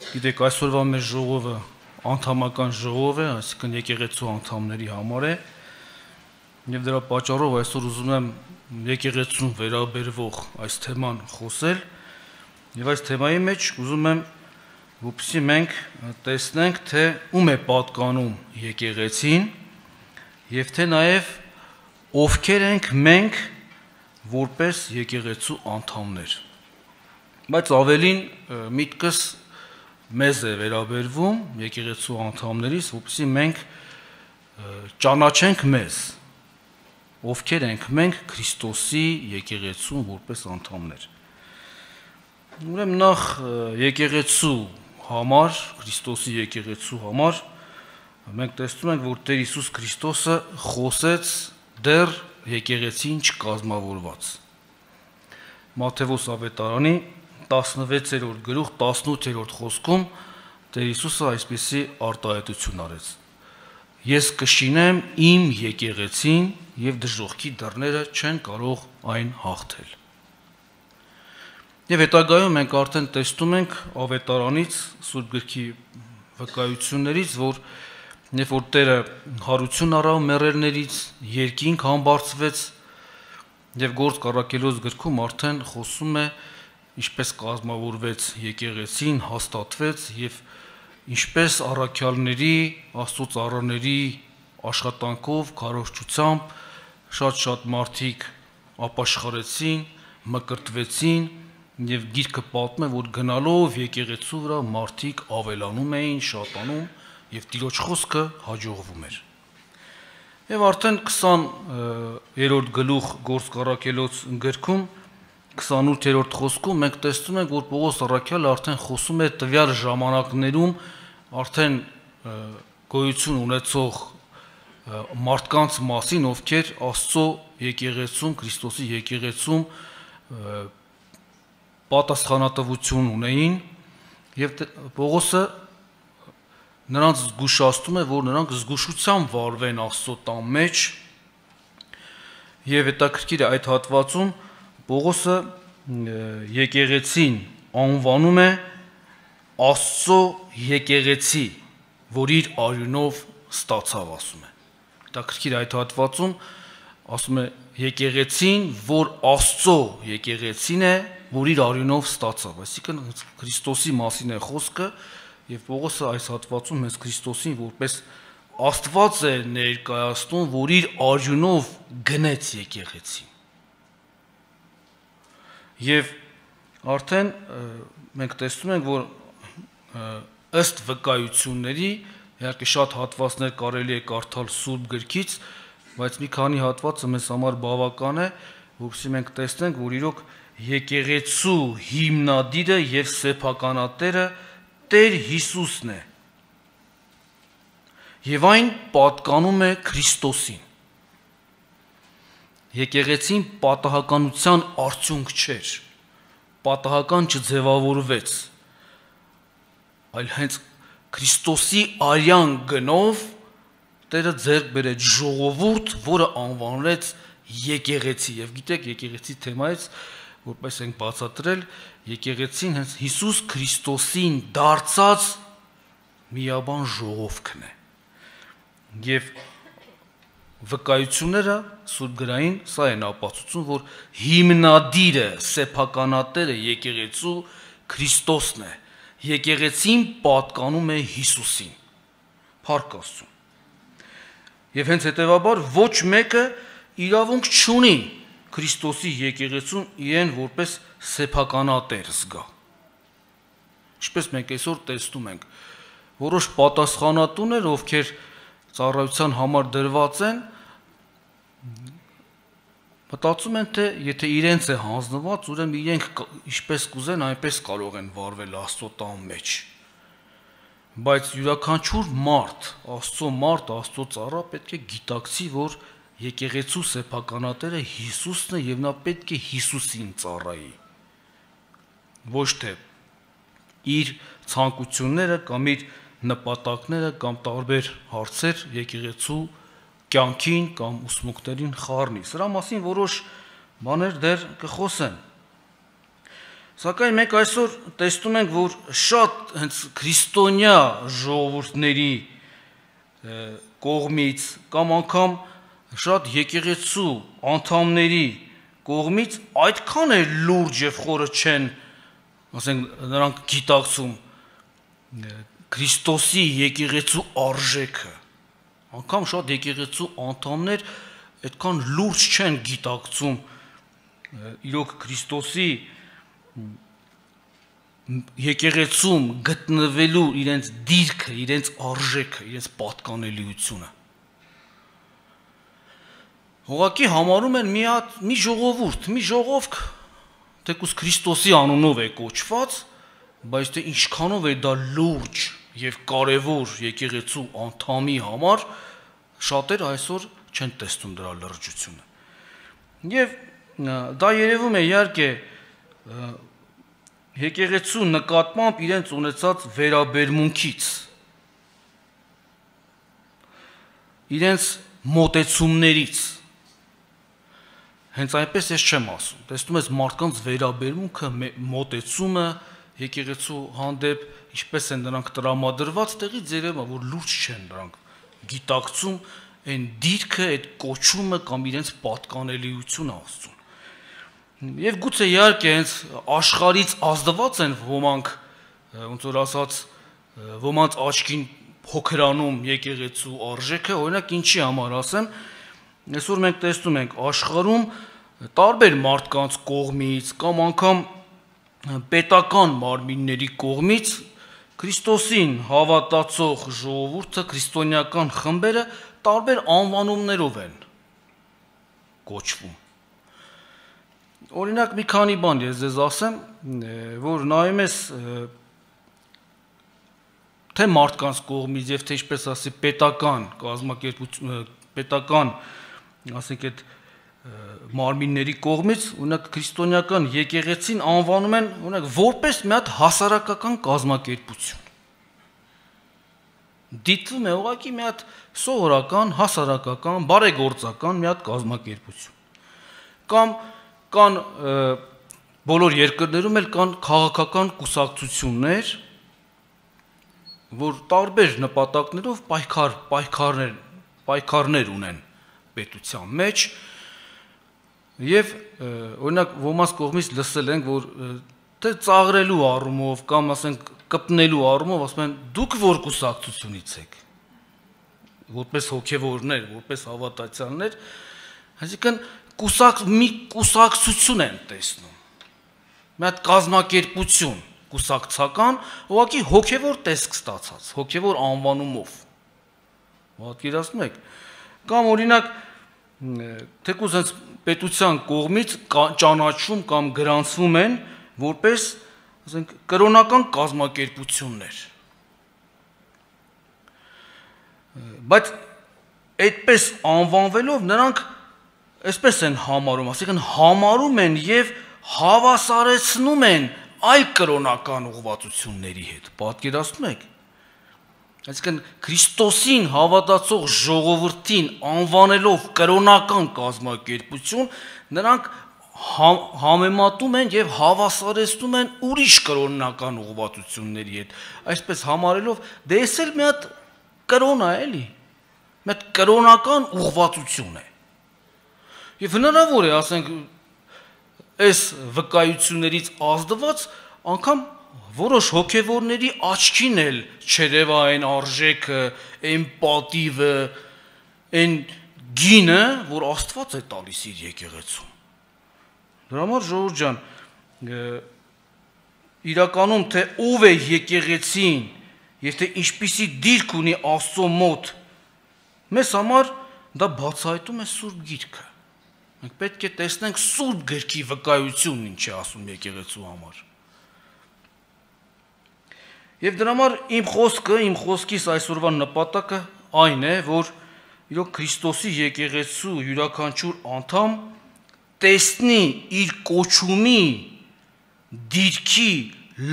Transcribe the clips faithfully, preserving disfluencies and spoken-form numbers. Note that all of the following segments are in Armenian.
Գիտեք, այսօրվա մեր ժողովը անդամական ժողով է, այսինքն եկեղեցու անդամների համար է, եւ դրա պատճառով այսօր ուզում եմ եկեղեցուն վերաբերվող այս թեման խոսել, եւ այս թեմայի մեջ ուզում եմ որպեսզի մենք տեսնենք, թե ում է պատկանում եկեղեցին եւ թե նաեւ ովքեր ենք մենք որպես եկեղեցու անդամներ։ Բայց ավելին միտքս մեզ է վերաբերվում եկեղեցու անդամներից, որպեսզի մենք ճանաչենք մեզ, ովքեր ենք մենք Քրիստոսի եկեղեցուն որպես անդամներ։ Ուրեմն նախ եկեղեցու համար, Քրիստոսի եկեղեցու համար մենք տեսնում ենք, որ Տեր Հիսուս Քրիստոսը խոսեց դեռ եկեղեցին չկազմավորված։ Մատթեոս ավետարանի տասնվեցերորդ գլուխ տասնութերորդ խոսքում Տեր Հիսուսը այսպիսի արտահայտություն արեց. Ես կշինեմ իմ եկեղեցին եւ դժոխքի դռները չեն կարող այն հաղթել։ Եվ հետագայում մենք արդեն տեսնում ենք ավետարանից, Սուրբ գրքի վկայություններից, որ երբ որ Տերը հարություն առավ մեռելներից, երկինք համբարձվեց եւ Գործք առաքելոց գրքում արդեն խոսում է ինչպես կազմավորվեց եկեղեցին, հաստատվեց եւ ինչպես առաքյալների, Աստծո ծառաների աշխատանքով, քարոզչությամբ շատ-շատ մարդիկ ապաշխարեցին, մկրտվեցին եւ գիրքը պատմում է, որ գնալով եկեղեցու վրա մարդիկ ավելանում էին, շատանում եւ Տիրոջ խոսքը հաջողվում էր։ Եվ արդեն քսաներորդ գլուխ Գործք առաքելոց գրքում քսանութերորդ խոսքում մենք տեսնում ենք, որ Պողոս առաքյալը արդեն խոսում է տվյալ ժամանակներում արդեն գոյություն ունեցող մարդկանց մասին, ովքեր Աստծո եկեղեցում, Քրիստոսի եկեղեցում պատասխանատվություն ունեին, եւ Պողոսը նրանց զգուշացնում է, որ նրանք զգուշությամբ վարվեն Աստծո տան մեջ, եւ հետաքրքիր է այդ հատվածում Պողոսը եկեղեցին անվանում է Աստծո եկեղեցի, որ իր արյունով ստացավ, ասում է։ Հետաքրքիր այդ հատվածում ասում է եկեղեցին, որ Աստծո եկեղեցին է, որ իր արյունով ստացավ, այսինքն Քրիստոսի մասին է խոսքը, եւ Պողոսը այս հատվածում հենց Քրիստոսին որպես Աստված է ներկայացնում, որ իր արյունով գնեց եկեղեցին։ Եվ արդեն մենք տեսնում ենք, որ ըստ վկայությունների, իհարկե շատ հատվածներ կարելի է կարդալ Սուրբ գրքից, բայց մի քանի հատվածը մեզ համար բավական է, որովհետեւ մենք տեսնենք, որ իրոք եկեղեցու հիմնադիրը եւ սեփականատերը Տեր Հիսուսն է։ Եվ այն պատկանում է Քրիստոսին։ Եկեղեցին պատահականության արդյունք չէր, պատահական չձևավորվեց, այլ հենց Քրիստոսի արյան գնով Տերը ձեռք բերեց ժողովուրդ, որը անվանվեց եկեղեցի։ Եվ գիտեք, եկեղեցի թեմայից, որպես ենք բացատրել, եկեղեցին հենց Հիսուս Քրիստոսին դարձած միաբան ժողովքն է։ Եվ վկայությունները Սուրբ գրային սա են ապացուցում, որ հիմնադիրը, սեփականատերը եկեղեցու Քրիստոսն է։ Եկեղեցին պատկանում է Հիսուսին։ Փառք Աստծո։ Եվ հենց հետևաբար ոչ մեկը իրավունք չունի Քրիստոսի եկեղեցուն իրեն որպես սեփականատեր զգա։ Ինչպես մենք այսօր տեսնում ենք, որոշ պատասխանատուներ, ովքեր ծառայության համար դրված են, մտածում են, թե եթե իրենց է հանձնված, ուրեմն իրենք ինչպես կուզեն, այնպես կարող են վարվել Աստծո տան մեջ։ Բայց յուրաքանչյուր մարդ, Աստծո մարդ, Աստծո ծառա պետք է գիտակցի, որ եկեղեցու սեփականատերը Հիսուսն է եւ նա պետք է Հիսուսին ծառայի։ Ոչ թե իր ցանկությունները կամ իր նպատակները կամ տարբեր հարցեր եկեղեցու կյանքին կամ ուսմունքներին խառնի։ Սրա մասին որոշ բաներ դեռ կխոսեն։ Սակայն մենք այսօր տեսնում ենք, որ շատ հենց քրիստոնյա ժողովուրդների կողմից կամ անգամ շատ եկեղեցու անդամների կողմից այդքան է լուրջ եւ խորը չեն, ասենք, նրանք գիտակցում Քրիստոսի եկեղեցու արժեքը։ Անգամ շատ եկեղեցու անդամներ այդքան լուրջ չեն գիտակցում իրոք Քրիստոսի եկեղեցում գտնվելու իրենց դիրքը, իրենց արժեքը, իրենց պատկանելիությունը։ Ուղղակի համարում են մի հատ մի ժողովուրդ, մի ժողովք, թեկուզ Քրիստոսի անունով է կոչված, բայց թե ինչքանով է դա լուրջ եւ կարեւոր եկեղեցու անդամի համար, շատեր այսօր չեն տեսնում դրա լրջությունը։ Եվ դա երևում է իհարկե եկեղեցու նկատմամբ իրենց ունեցած վերաբերմունքից, իրենց մոտեցումներից։ Հենց այնպես ես չեմ ասում։ Տեսնում ես մարդկանց վերաբերմունքը, մոտեցումը եկեղեցու հանդեպ, ինչպես են նրանք տրամադրված, տեղից երևում է, որ լուրջ չեն նրանք գիտակցում այն դիրքը, այդ կոչումը կամ իրենց պատկանելիությունը Աստծուն։ Եվ գուցե իհարկե հենց աշխարհից ազդված են ոմանք, ոնց որ ասած, ոմանց աչքին փոքրանում եկեղեցու արժեքը, օրինակ ինչի համար ասեմ, այսօր մենք տեսնում ենք աշխարհում տարբեր մարդկանց կողմից կամ անգամ պետական մարմինների կողմից Քրիստոսին հավատացող ժողովուրդը, քրիստոնեական խմբերը տարբեր անվանումներով են կոչվում։ Օրինակ մի քանի բան ես ձեզ ասեմ, որ նայում ես թե մարդկանց կողմից եւ թե ինչպես ասի պետական կազմակերպություն, պետական, ասենք այդ մարմինների կողմից, օրինակ քրիստոնեական եկեղեցին անվանում են, օրինակ որպես մի հատ հասարակական կազմակերպություն։ Դիտվում է ուղղակի մի հատ սովորական, հասարակական, բարեգործական մի հատ կազմակերպություն։ Կամ կան բոլոր երկրներում էլ կան քաղաքական կուսակցություններ, որ տարբեր նպատակներով պայքար, պայքարներ, պայքարներ ունեն պետության մեջ, եւ օրինակ ոմանց կողմից լսել ենք, որ թե ծաղրելու առումով կամ ասենք կպնելու առումով ասում են դուք որ կուսակցությունից եք, որպես հոգևորներ, որպես հավատացյալներ, այսինքն կուսակ մի կուսակցություն են տեսնում, մի հատ կազմակերպություն կուսակցական, ուղղակի հոգևոր տեսք ստացած, հոգևոր անվանումով, պատկերացնում եք, կամ օրինակ թեկուզ հենց պետության կողմից ճանաչվում կամ գրանցվում են որպես, ասենք, կրոնական կազմակերպություններ, բայց այդպես անվանվելով նրանք այսպես են համարում, ասիկան համարում են եւ հավասարեցնում են այլ կրոնական ուղղվածությունների հետ, պատկերացնում եք։ Այսինքն Քրիստոսին հավատացող ժողովրդին անվանելով կրոնական կազմակերպություն, նրանք համեմատում են եւ հավասարեցնում են ուրիշ կրոնական ուղղվածությունների հետ, այսպես համարելով, դե էս էլ մի հատ կրոնա էլի, մի հատ կրոնական ուղղվածություն է։ Եվ հնարավոր է, ասենք, այս վկայություններից ազդված անգամ որոշ հոգևորների աչքին էլ չերևա այն արժեքը, այն պատիվը, այն գինը, որ Աստված է տալիս իր եկեղեցում։ Դրա համար ժողովուրդ ջան, իրականում թե ով է եկեղեցին եւ թե ինչպիսի դիրք ունի Աստծո մոտ, մեզ համար դա բացահայտում է Սուրբ Գիրքը։ Մենք պետք է տեսնենք Սուրբ Գրքի վկայությունն ինչ է ասում եկեղեցու համար։ Եվ դրա համար իմ խոսքը, իմ խոսքիս այսօրվա նպատակը այն է, որ իրոք Քրիստոսի եկեղեցու յուրաքանչյուր անդամ տեսնի իր կոչումի դիրքի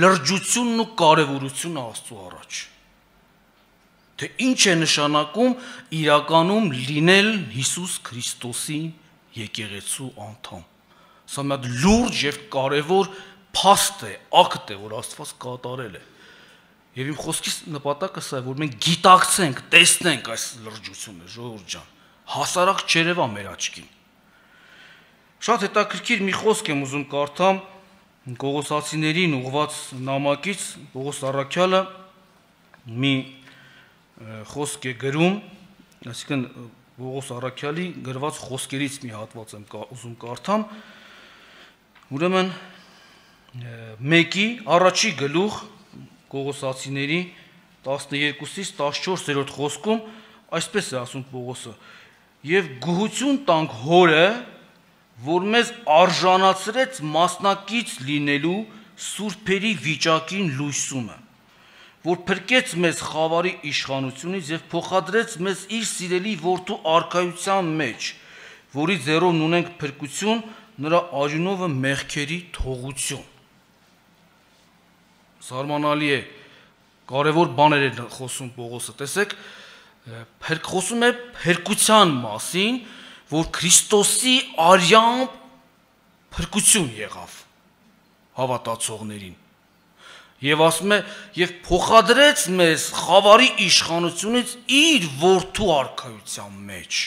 լրջությունն ու կարևորությունը Աստծո առաջ։ Թե ինչ է նշանակում իրականում լինել Հիսուս Քրիստոսի եկեղեցու անդամ։ Սա մի հատ լուրջ եւ կարևոր փաստ է, ակտ է, որ Աստված կատարել է։ Եվ իմ խոսքից նպատակը սա է, որ մենք գիտակցենք, տեսնենք այս լրջությունը, ժողովուրդ ջան, հասարակ չերևա մեր աչքին։ Շատ հետաքրքիր մի խոսք եմ ուզում կարդամ Կողոսացիներին ուղված նամակից, Պողոս առաքյալը մի խոսք է գրում, այսինքն Պողոս առաքյալի գրված խոսքերից մի հատված եմ ուզում կարդամ, ուրեմն մեկի առաջի գլուխ Կողոսացիների տասներկուից տասնչորսերորդ խոսքում այսպես է ասում Պողոսը. «Եվ գոհություն տանք Հորը, որ մեզ արժանացրեց մասնակից լինելու սուրբերի վիճակին լույսումը, որ փրկեց մեզ խավարի իշխանությունից եւ փոխադրեց մեզ իր սիրելի որդու արքայության մեջ, որի ձեռով ունենք փրկություն, նրա արյունովը մեղքերի թողություն»։ Զարմանալի է, կարևոր բաներ է խոսում Պողոսը, տեսեք, խոսում է փրկության մասին, որ Քրիստոսի արյամբ փրկություն եղավ հավատացողներին։ Եվ ասում է, եւ փոխադրեց մեզ խավարի իշխանությունից իր որդու արքայության մեջ։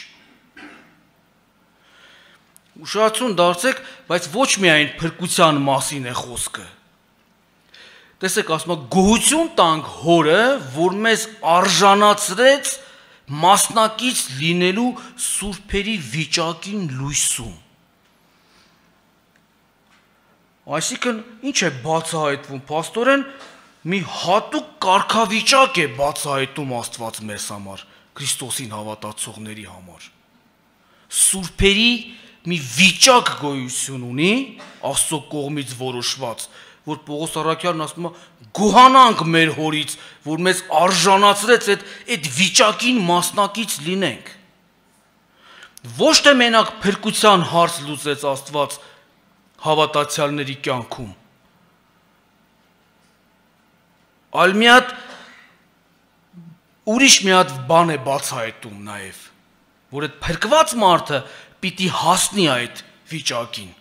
Ուշադրություն դարձեք, բայց ոչ միայն փրկության մասին է խոսքը։ Տեսեք, ասում է, գոհություն տանք Հորը, որ մեզ արժանացրեց մասնակից լինելու սուրբերի վիճակին լույսում։ Այսինքն, ինչ է բացահայտվում, փաստորեն մի հատուկ կարգավիճակ է բացահայտում Աստված մեզ համար, Քրիստոսին հավատացողների համար։ Սուրբերի մի վիճակ գոյություն ունի, Աստծո կողմից որոշված, որ Պողոս առաքյալն ասում է, գոհանանք մեր Հորից, որ մեզ արժանացրեց այդ այդ վիճակին մասնակից լինենք։ Ոչ թե մենակ փրկության հարց լուծեց Աստված հավատացյալների կյանքում, այլ մի հատ ուրիշ մի հատ բան է բացահայտում նաև, որ այդ փրկված մարդը պիտի հասնի այդ վիճակին,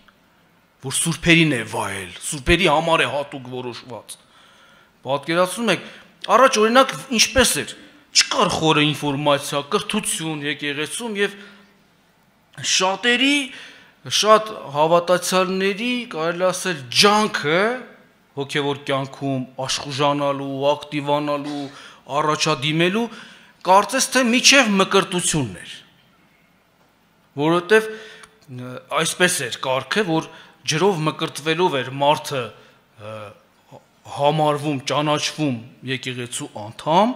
որ սուրբերին է վայել, սուրբերի համար է հատուկ որոշված։ Պատկերացնում եք, առաջ օրինակ ինչպես էր, չկար խորը ինֆորմացիա, կրթություն եկեղեցում եւ շատերի, շատ հավատացյալների, կարելի ասել, ջանքը հոգեվոր կյանքում աշխուժանալու, ակտիվանալու, առաջադիմելու, կարծես թե միջև մկրտությունն էր։ Որովհետեւ այսպես էր կարգը, որ ջրով մկրտվելով էր մարդը համարվում, ճանաչվում եկեղեցու անդամ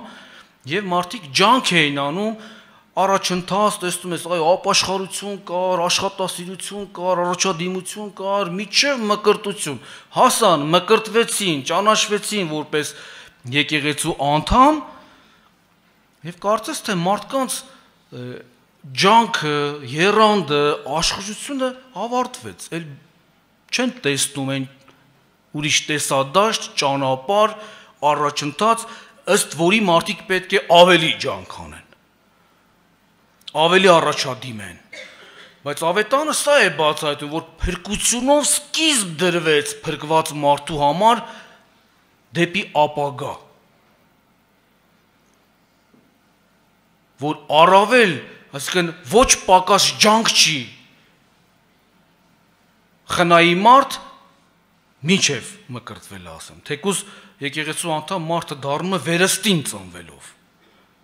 եւ մարդիկ ջանք էին անում, առաջընթաց տեսնում ես, այ ապաշխարություն կար, աշխատասիրություն կար, առաջադիմություն կար, միջև մկրտություն, հասան, մկրտվեցին, ճանաչվեցին որպես եկեղեցու անդամ եւ կարծես թե մարդկանց ջանքը, եռանդը, աշխուժությունը ավարտվեց, էլ չեն տեսնում են ուրիշ տեսադաշտ, ճանապարհ, առաջընթաց, ըստ որի մարդիկ պետք է ավելի ջանք անեն, ավելի առաջադիմեն։ Բայց ավետանը սա է բացահայտում, որ փրկությունով սկիզբ դրվեց փրկված մարդու համար դեպի ապագա, որ առավել, այսինքն ոչ պակաս ջանք չի խնայի մարդ մինչև մկրտվել ասեմ, թեկուզ եկեղեցու անդամ մարդը դառնում է վերստին ծնվելով,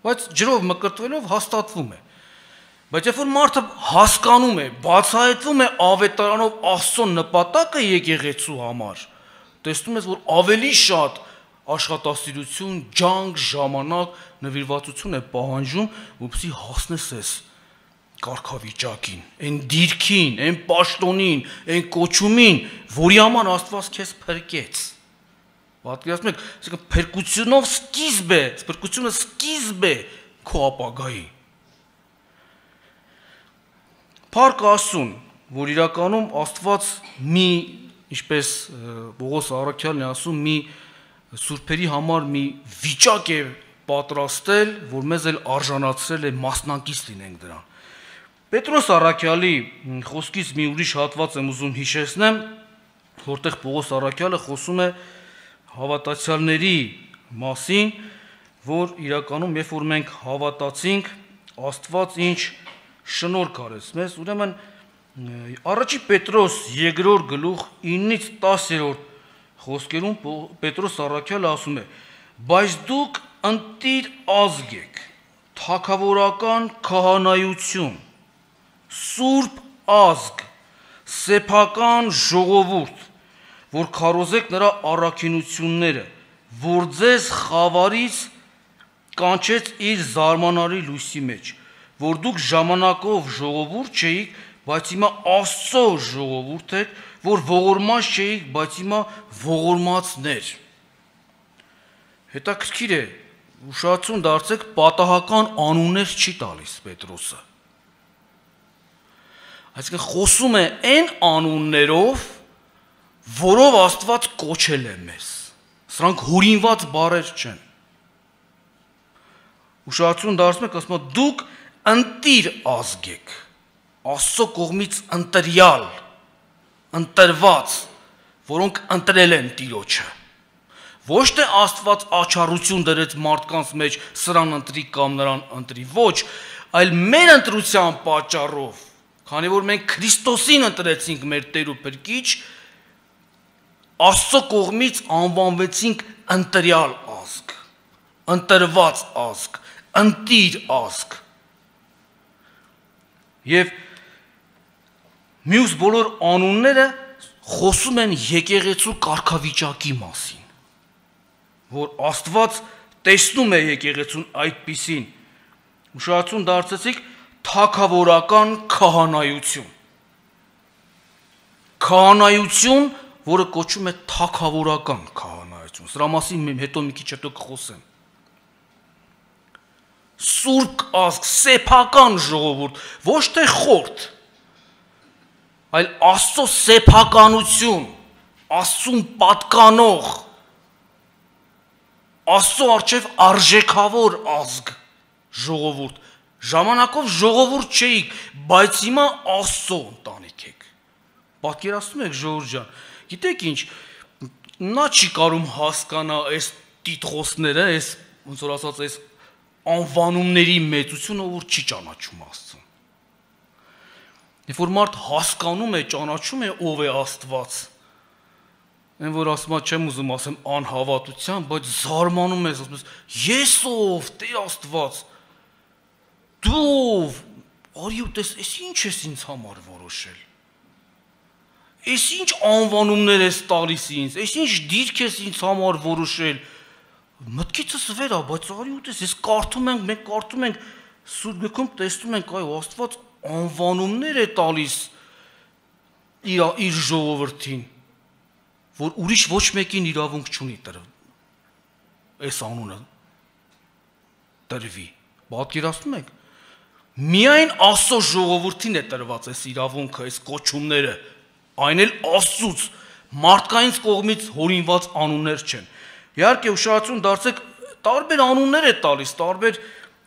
բայց ջրով մկրտվելով հաստատվում է։ Բայց երբ որ մարդը հասկանում է, բացահայտվում է ավետարանով Աստծո նպատակը եկեղեցու համար, տեսնում ես, որ ավելի շատ աշխատասիրություն, ջանք, ժամանակ, նվիրվածություն է պահանջում, որպեսզի հասնես այս կարգավիճակին, այն դիրքին, այն պաշտոնին, այն կոչումին, որի համար Աստված քեզ փրկեց։ Պատկերացնում եք, այսինքն փրկությունով սկիզբ է, փրկությունը սկիզբ է քո ապագայի։ Փառք Աստծուն, որ իրականում Աստված մի, ինչպես Պողոս առաքյալն է ասում, մի սուրբերի համար մի վիճակ է պատրաստել, որ մեզ էլ արժանացրել է մասնակից լինենք դրան։ Պետրոս առաքյալի խոսքից մի ուրիշ հատված եմ ուզում հիշեցնեմ, որտեղ Պողոս առաքյալը խոսում է հավատացյալների մասին, որ իրականում երբ որ մենք հավատացինք, Աստված ինչ շնորհք արեց մեզ, ուրեմն առաջի Պետրոս երկրորդ գլուխ իննից տասերորդ խոսքերում Պետրոս առաքյալը ասում է. բայց դուք ընտիր ազգ եք, թագավորական քահանայություն, սուրբ ազգ, սեփական ժողովուրդ, որ քարոզեք նրա առաքինությունները, որ ձեզ խավարից կանչեց իր զարմանալի լույսի մեջ, որ դուք ժամանակով ժողովուրդ չէիք, բայց հիմա Աստծո ժողովուրդ եք, որ ողորմած չէիք, բայց հիմա ողորմածներ։ Հետաքրքիր է, ուշադրություն դարձեք, պատահական անուններ չի տալիս Պետրոսը։ Այսինքն խոսում է այն անուններով, որով Աստված կոչել է մեզ։ Սրանք հորինված բառեր չեն։ Ուշադրություն դարձնում եք, ասում է դուք ընտիր ազգ եք, Աստծո կողմից ընտրյալ, ընտրված, որոնք ընտրել են Տիրոջը։ Ոչ թե Աստված աչառություն դրեց մարդկանց մեջ սրան ընտրի կամ նրան ընտրի, ոչ, այլ մեր ընտրության պատճառով, քանի որ մենք Քրիստոսին ընտրեցինք մեր Տեր ու Փրկիչ, Աստծո կողմից անվանվեցինք ընտրյալ ազգ, ընտրված ազգ, ընտիր ազգ։ Եվ մյուս բոլոր անունները խոսում են եկեղեցու կարգավիճակի մասին, որ Աստված տեսնում է եկեղեցուն այդպիսին։ Ուշադրություն դարձեցիք թագավորական քահանայություն։ Քահանայություն, որը կոչում է թագավորական քահանայություն։ Սրա մասին հետո մի քիչ հետո կխոսեմ։ Սուրբ ազգ, սեփական ժողովուրդ, ոչ թե խորտ, այլ Աստծո սեփականություն, Աստծուն պատկանող, Աստծո առջև արժեքավոր ազգ, ժողովուրդ, ժամանակով ժողովուրդ չէիք, բայց հիմա Աստծո ընտանիք եք։ Պատկերացնում եք ժողովուրդ ջան, գիտեք ինչ, նա չի կարում հասկանա այս տիտղոսները, այս ոնց որ ասած այս անվանումների մեծությունը, որ չի ճանաչում Աստծուն։ Երբ որ մարդ հասկանում է, ճանաչում է ով է Աստված, այն որ ասում եմ, չեմ ուզում ասեմ անհավատության, բայց զարմանում ես, ասում ես, ես ով, Տեր Աստված, դու ով, արի ու տես, ես ինչ ես ինձ համար որոշել։ Ես ինչ անվանումներ ես տալիս ինձ, ես ինչ դիրք ես ինձ համար որոշել։ Մտքիցս վեր է, բայց արի ու տես, ես կարդում ենք, մենք կարդում ենք Սուրբ Գրքում տեսնում ենք, այո, Աստված անվանումներ է տալիս իր իր ժողովրդին, որ ուրիշ ոչ մեկին իրավունք չունի տրվել։ Այս անունը տրվի։ Պատկերացնում եք։ Միայն Աստծո ժողովրդին է տրված այս իրավունքը, այս կոչումները, այն էլ Աստծուց, մարդկային կողմից հորինված անուններ չեն։ Իհարկե ուշադրություն դարձեք, տարբեր անուններ է տալիս, տարբեր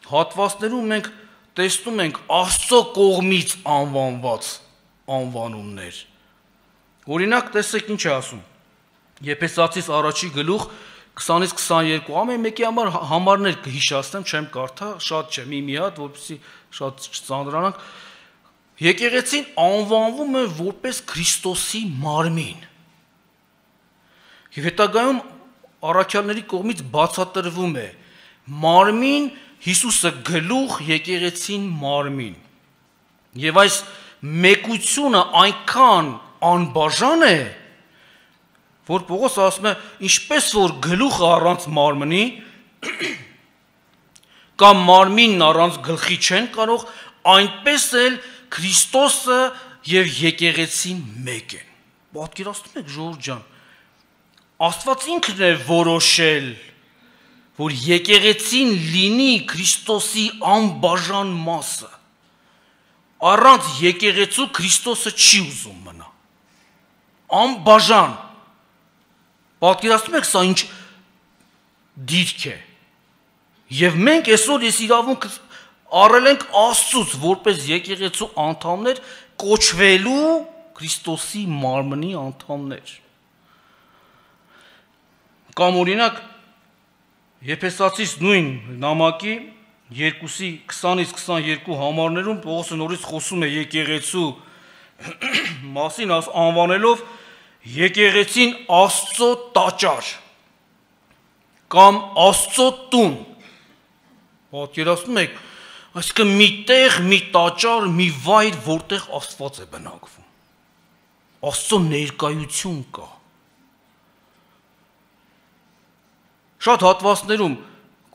հատվածներում մենք տեսնում ենք Աստծո կողմից անվանված անվանումներ։ Օրինակ, տեսեք ինչ է ասում։ Եփեսացիս առաջի գլուխ քսանից քսաներկու ամեն մեկի համար համարներ կհիշացնեմ, չեմ կարդա, շատ չէ, մի-մի հատ, որպեսզի շատ չծանրանանք։ Եկեղեցին անվանվում է որպես Քրիստոսի մարմին։ Եվ հետագայում առաքյալների կողմից բացատրվում է մարմին, Հիսուսը գլուխ, եկեղեցին մարմին։ Եվ այս մեկությունը այնքան անբաժան է, որ Պողոս ասում է, ինչպես որ գլուխը առանց մարմնի, կամ մարմինն առանց գլխի չեն կարող, այնպես էլ Քրիստոսը եւ եկեղեցին մեկ են։ Պատկերացնում եք ժողովուրդ ջան, Աստված ինքն է որոշել, որ եկեղեցին լինի Քրիստոսի անբաժան մասը։ Առանց եկեղեցու Քրիստոսը չի ուզում մնա։ Անբաժան։ Պատկերացնում եք սա ինչ դիրք է։ Եվ մենք այսօր ես իրավունք առել ենք Աստծուց, որպես եկեղեցու անդամներ կոչվելու Քրիստոսի մարմնի անդամներ։ Կամ օրինակ Եփեսացիս նույն նամակի երկուսի քսանից քսաներկու համարներում Պողոսը նորից խոսում է եկեղեցու մասին, անվանելով եկեղեցին Աստծո տաճար կամ Աստծո տուն։ Պատկերացնում եք, այսինքն մի տեղ, մի տաճար, մի վայր, որտեղ Աստված է բնակվում։ Աստծո ներկայություն կա։ Շատ հատվածներում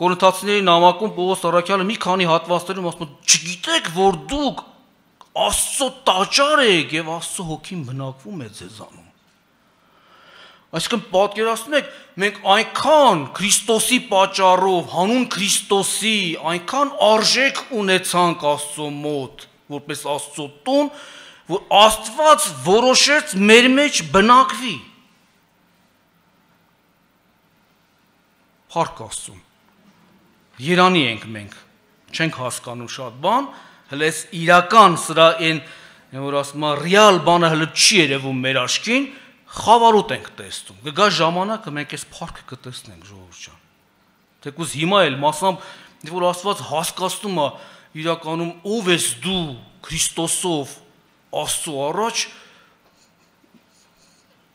Կորինթացիների նամակում Պողոս առաքյալը մի քանի հատվածներում ասում է, չգիտեք, որ դուք Աստծո տաճար եք եւ Աստծո հոգին բնակվում է ձեզանում։ Այսինքն պատկերացնում եք, մենք այնքան Քրիստոսի պատճառով, հանուն Քրիստոսի, այնքան արժեք ունեցանք Աստծո մոտ, որպես Աստծո տուն, որ Աստված որոշեց մեր մեջ բնակվի։ Փառք Աստծուն։ Երանի ենք մենք, չենք հասկանում շատ բան, հələ այս իրական սրա այն, որ ասում է ռեալ բանը հələ չի երևում մեր աչքին, խավարուտ ենք տեսնում։ Կգա ժամանակը մենք այս փառքը կտեսնենք, ժողովուրդ ջան։ Թեկուզ հիմա էլ մասամբ, որ Աստված հասկացնում է իրականում ով ես դու Քրիստոսով Աստծո առաջ,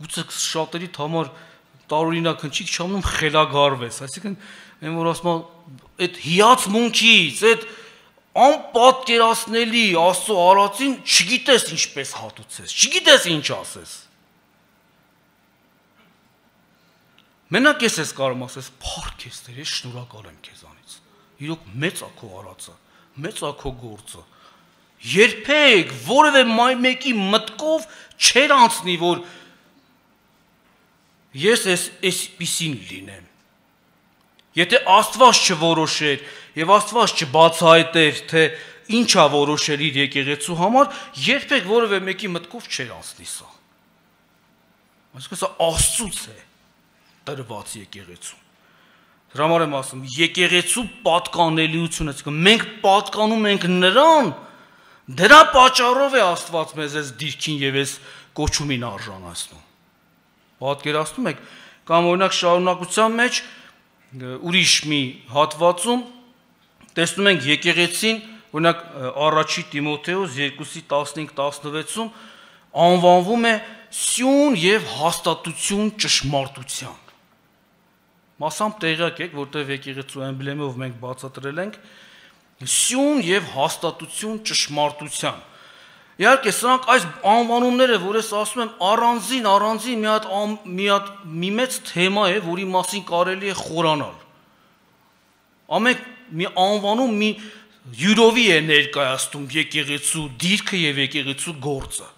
գուցե շատերի համար տարօրինակ հնչի, չամնում խելագարվես, այսինքն այն որ ասում այդ հիացմունքից, այդ անպատկերացնելի Աստծո արածին չգիտես ինչպես հատուցես, չգիտես ինչ ասես։ Մենակ ես ես կարող ասես, փառք ես Տեր, ես շնորհակալ եմ քեզանից։ Իրոք մեծ է քո արածը, մեծ է քո գործը։ Երբեք որևէ մեկի մտքով չեր անցնի, որ ես այսպիսին լինեմ։ Եթե Աստված չորոշեր եւ Աստված չբացահայտեր, թե ինչ է որոշել իր եկեղեցու համար, երբեք որևէ մեկի մտքով չեր անցնի սա։ Այսինքն սա Աստծուց է տրված եկեղեցու։ Դրա համար եմ ասում, եկեղեցու պատկանելիությունը, այսինքն մենք պատկանում ենք նրան, դրա պատճառով է Աստված մեզ այս դիրքին եւ այս կոչումին արժանացնում։ Պատկերացնում եք, կամ օրինակ շարունակության մեջ ուրիշ մի հատվածում տեսնում ենք եկեղեցին, օրինակ առաջի Տիմոթեոս երկուսի տասնհինգ տասնվեցում անվանվում է սյուն եւ հաստատություն ճշմարտության։ Մասամբ տեղյակ եք, որտեղ եկեղեցու էմբլեմով մենք բացատրել ենք սյուն եւ հաստատություն ճշմարտության։ Իհարկե, սրանք այս անվանումները, որ ես ասում եմ, առանձին, առանձին մի հատ մի հատ մի մեծ թեմա է, որի մասին կարելի է խորանալ։ Ամեն մի անվանում մի յուրովի է ներկայացնում եկեղեցու դիրքը եւ եկեղեցու գործը։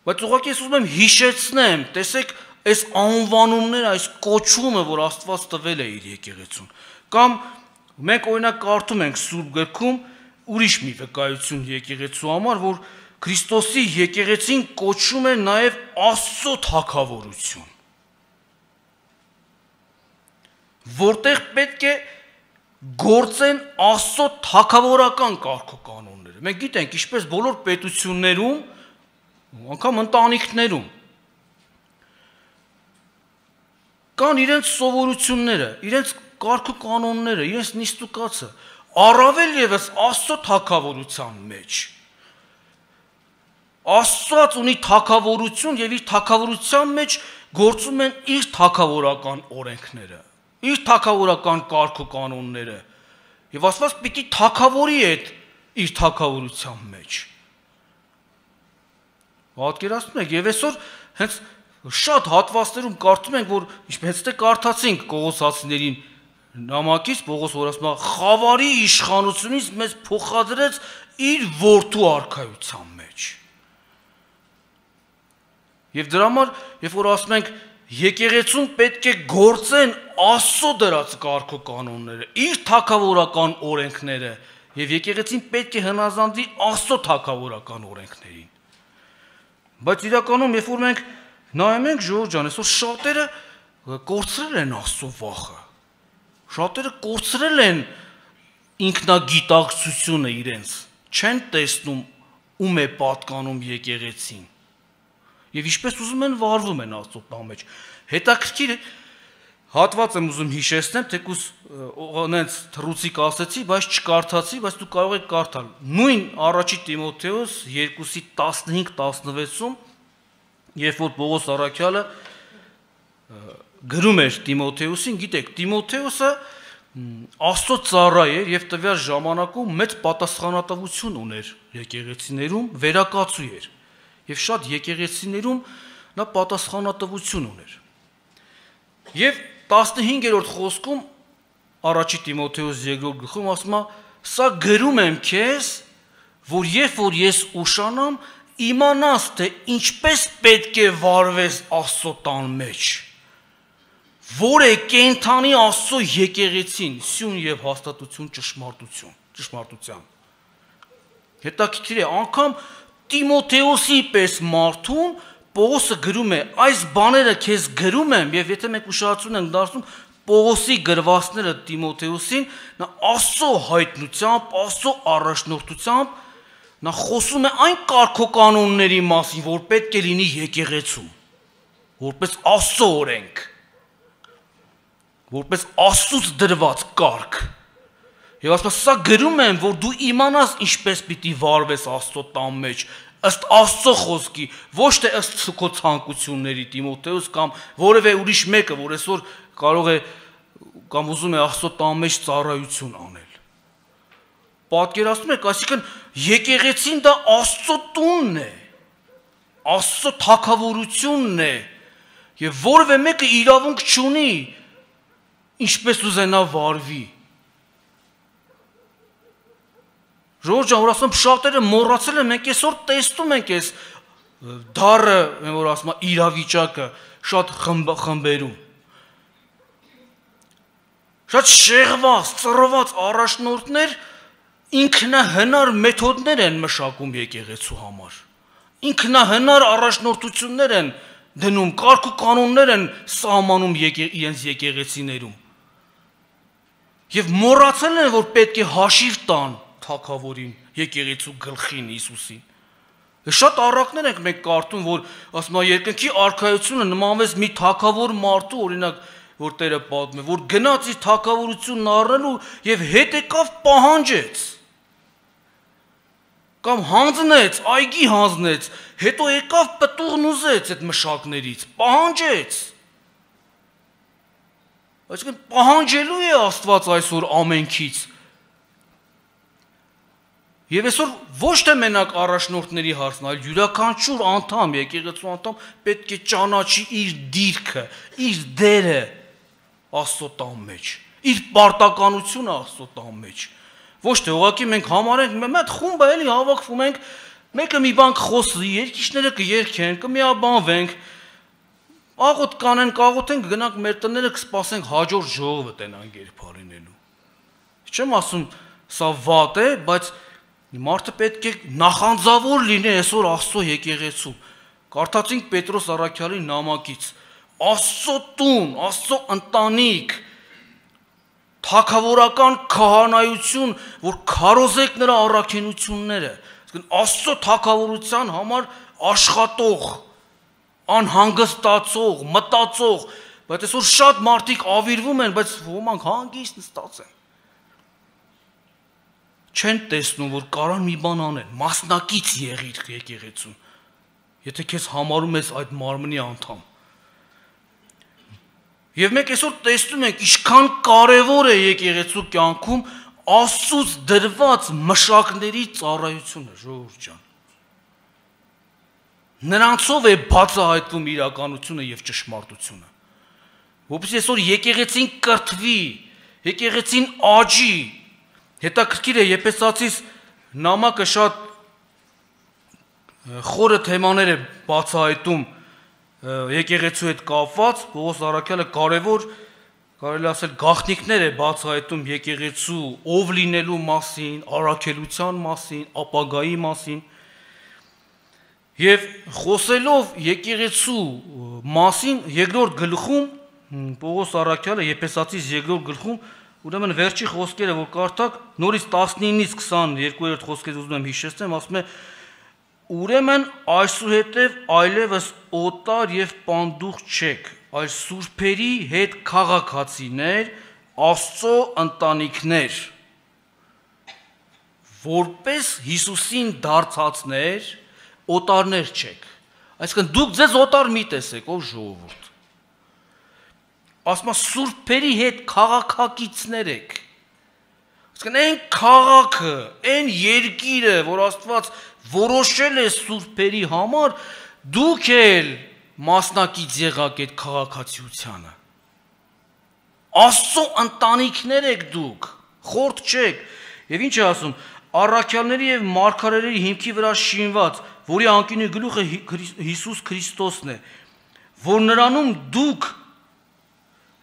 Բայց ուղղակի ես ուզում եմ հիշեցնեմ, տեսեք, այս անվանումները, այս կոչումը, որ Աստված տվել է իր եկեղեցուն, կամ մենք օրինակ կարդում ենք Սուրբ գրքում ուրիշ մի վկայություն եկեղեցու համար, որ Քրիստոսի եկեղեցին կոչում է նաև Աստծո թագավորություն, որտեղ պետք է գործեն Աստծո թագավորական կարգոկանոնները։ Մենք գիտենք, ինչպես բոլոր պետություններում, անգամ ընտանիքներում կան իրենց սովորությունները, իրենց կարգոկանոնները, իրենց նիստուկացը, առավել ևս Աստծո թագավորության մեջ։ Աստված ունի թագավորություն եւ իր թագավորության մեջ գործում են իր թագավորական օրենքները, իր թագավորական կարգոկանոնները։ Եվ Աստված պիտի թագավորի այդ իր թագավորության մեջ։ Պատկերացնում եք, եւ այսօր հենց շատ հատվածներում կարդում ենք, որ ինչպես թե կարդացինք Կողոսացիներին նամակից, Պողոս որ ասում է, խավարի իշխանությունից մեզ փոխադրեց իր որդու արքայության մեջ։ Եվ դրա համար, երբ որ ասում ենք, եկեղեցուն պետք է գործեն Աստծո դրած կարգոկանոնները, իր թագավորական օրենքները, եւ եկեղեցին պետք է հնազանդվի Աստծո թագավորական օրենքներին։ Բայց իրականում, երբ որ մենք նայում ենք ժողովուրդ ջան, այսօր շատերը կորցրել են Աստծո վախը։ Շատերը կորցրել են ինքնագիտակցությունը իրենց, չեն տեսնում ում է պատկանում եկեղեցին։ եւ ինչպես ուզում են վարվում են Աստծո տան մեջ։ Հետաքրքիր հատված եմ ուզում հիշեցնեմ, թեկուզոնենց թռուցիկ ասեցի, բայց չկարդացի, բայց դու կարող եք կարդալ։ Նույն առաջի Տիմոթեոս երկուսի տասնհինգ տասնվեցում, երբ որ Պողոս առաքյալը գրում էր Տիմոթեոսին, գիտեք, Տիմոթեոսը Աստծո ծառա էր եւ տվյալ ժամանակում մեծ պատասխանատվություն ուներ եկեղեցիներում, վերակացու էր։ Եվ շատ եկեղեցիներում նա պատասխանատվություն ուներ։ Եվ տասնհինգերորդ խոսքում առաջի Տիմոթեոս երկրորդ գլխում ասում է. «Սա գրում եմ քեզ, որ երբ որ ես ուշանամ, իմանաս թե ինչպես պետք է վարվես Աստծո տան մեջ, որ է կենթանի Աստծո եկեղեցին, սյուն եւ հաստատություն ճշմարտություն, ճշմարտության»։ Հետաքրքիր է, անգամ Տիմոթեոսի պես մարդուն Պողոսը գրում է, այս բաները քեզ գրում եմ, եւ եթե մենք ուշադրություն ենք դարձնում Պողոսի գրվածները Տիմոթեոսին, նա Աստծո հայտնությամբ, Աստծո առաջնորդությամբ նա խոսում է այն կարգոկանոնների մասին, որ պետք է լինի եկեղեցում, որպես Աստծո օրենք, որպես Աստծուց դրված կարգ։ Եվ ասում է, սա գրում եմ, որ դու իմանաս ինչպես պիտի վարվես Աստծո տան մեջ, ըստ Աստծո խոսքի, ոչ թե ըստ քո ցանկությունների, Տիմոթեոս կամ որևէ ուրիշ մեկը, որ այսօր կարող է կամ ուզում է Աստծո տան մեջ ծառայություն անել։ Պատկերացնում եք, այսինքն եկեղեցին դա Աստծո տունն է, Աստծո թագավորությունն է, եւ որևէ մեկը իրավունք չունի ինչպես ուզենա վարվի։ Ժողովուրդ ջան, որ ասում շատերը մոռացել են, մենք այսօր տեսնում ենք այս դառը, որ ասում է իրավիճակը շատ խմբերում։ Շատ շեղված, ծռված առաջնորդներ ինքնահնար մեթոդներ են մշակում եկեղեցու համար։ Ինքնահնար առաջնորդություններ են դնում, կարգ ու կանոններ են սահմանում իրենց եկեղեցիներում։ Եվ մոռացել են, որ պետք է հաշիվ տան թագավորին, եկեղեցու գլխին Հիսուսին։ Շատ առակներ ենք մենք կարդում, որ ասում է երկնքի արքայությունը նմանվեց մի թագավոր մարդու, օրինակ, որ Տերը պատմում է, որ գնաց իր թագավորությունն առնելու եւ հետ եկավ պահանջեց։ Կամ հանձնեց, այգի հանձնեց, հետո եկավ պտուղն ուզեց այդ մշակներից, պահանջեց։ Այսինքն պահանջելու է Աստված այսօր ամենքից։ Եվ այսօր ոչ թե մենակ առաջնորդների հարցն, այլ յուրաքանչյուր անդամ, եկեղեցու անդամ պետք է ճանաչի իր դիրքը, իր դերը Աստծո տան մեջ, իր պարտականությունը Աստծո տան մեջ։ Ոչ թե ուղղակի մենք համարենք, մեծ խումբ է էլի հավաքվում ենք, մեկը մի բան կխոսի, երկիշները կերքեն, կմիաբանվենք, աղոտ կանեն, կաղոթենք, գնանք մեր տները կսպասենք հաջորդ ժողովը տենանք երբարինելու։ Չեմ ասում սա վատ է, բայց մարդը պետք է նախանձավոր լինի այսօր Աստծո եկեղեցում։ Կարդացինք Պետրոս առաքյալի նամակից, Աստծո տուն, Աստծո ընտանիք, թագավորական քահանայություն, որ քարոզեք նրա առաքինությունները, Աստծո թագավորության համար աշխատող, անհանգստացող, մտածող, բայց այսօր շատ մարդիկ ավիրվում են, բայց ոմանք հանգիստ նստած են։ Չեն տեսնում, որ կարան մի բան անեն, մասնակից եղիր եկեղեցուն, եթե քեզ համարում ես այդ մարմնի անդամ։ Եվ մենք այսօր տեսնում ենք, ինչքան կարևոր է եկեղեցու կյանքում Աստծուց դրված մշակների ծառայությունը, ժողովուրդ ջան։ Նրանցով է բացահայտվում իրականությունը եւ ճշմարտությունը։ Որովհետեւ այսօր եկեղեցին կրթվի, եկեղեցին աճի։ Հետաքրքիր է Եփեսացիս նամակը շատ խորը թեմաներ է բացահայտում եկեղեցու հետ կապված, Պողոս առաքյալը կարևոր, կարելի ասել գաղտնիքներ է բացահայտում եկեղեցու ով լինելու մասին, առաքելության մասին, ապագայի մասին։ Եվ խոսելով եկեղեցու մասին երկրորդ գլխում Պողոս առաքյալը Եփեսացիս երկրորդ գլխում ուրեմն վերջի խոսքերը որ կարդաք նորից տասնինից քսաներկու խոսքեր ուզում եմ հիշեցնեմ, ասում է Ուրեմն այսուհետև այլևս օտար եւ պանդուխ չեք, այլ սուրբերի հետ քաղաքացիներ, Աստծո ընտանիքներ, որպես Հիսուսին դարձածներ, օտարներ չեք։ Այսինքն դուք ձեզ օտար մի տեսեք, ով ժողովուրդ։ Ասում է սուրբերի հետ քաղաքակիցներ եք։ Այսինքն այն քաղաքը, այն երկիրը, որ Աստված որոշել է սուրբերի համար, դուք էլ մասնակից եղաք այդ քաղաքացիությանը։ Աստծո ընտանիքներ եք դուք, խորտ չեք։ Եվ ինչ է ասում, առաքյալների եւ մարգարեների հիմքի վրա շինված, որի անկյունի գլուխը Հիսուս Քրիստոսն է, որ նրանում դուք,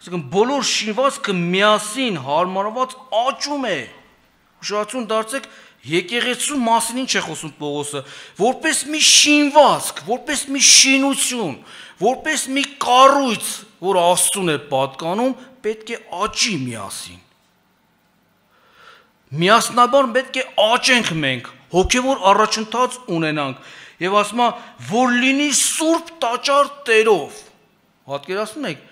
ասենք բոլոր շինվածքը միասին հարմարված աճում է։ Ուշադրություն դարձեք, եկեղեցու մասին ինչ է խոսում Պողոսը, որպես մի շինվածք, որպես մի շինություն, որպես մի կառույց, որ Աստծուն է պատկանում, պետք է աճի միասին։ Միասնաբար պետք է աճենք մենք, հոգևոր առաջընթաց ունենանք, եւ ասում է, որ լինի սուրբ տաճար Տերով։ Պատկերացնում եք,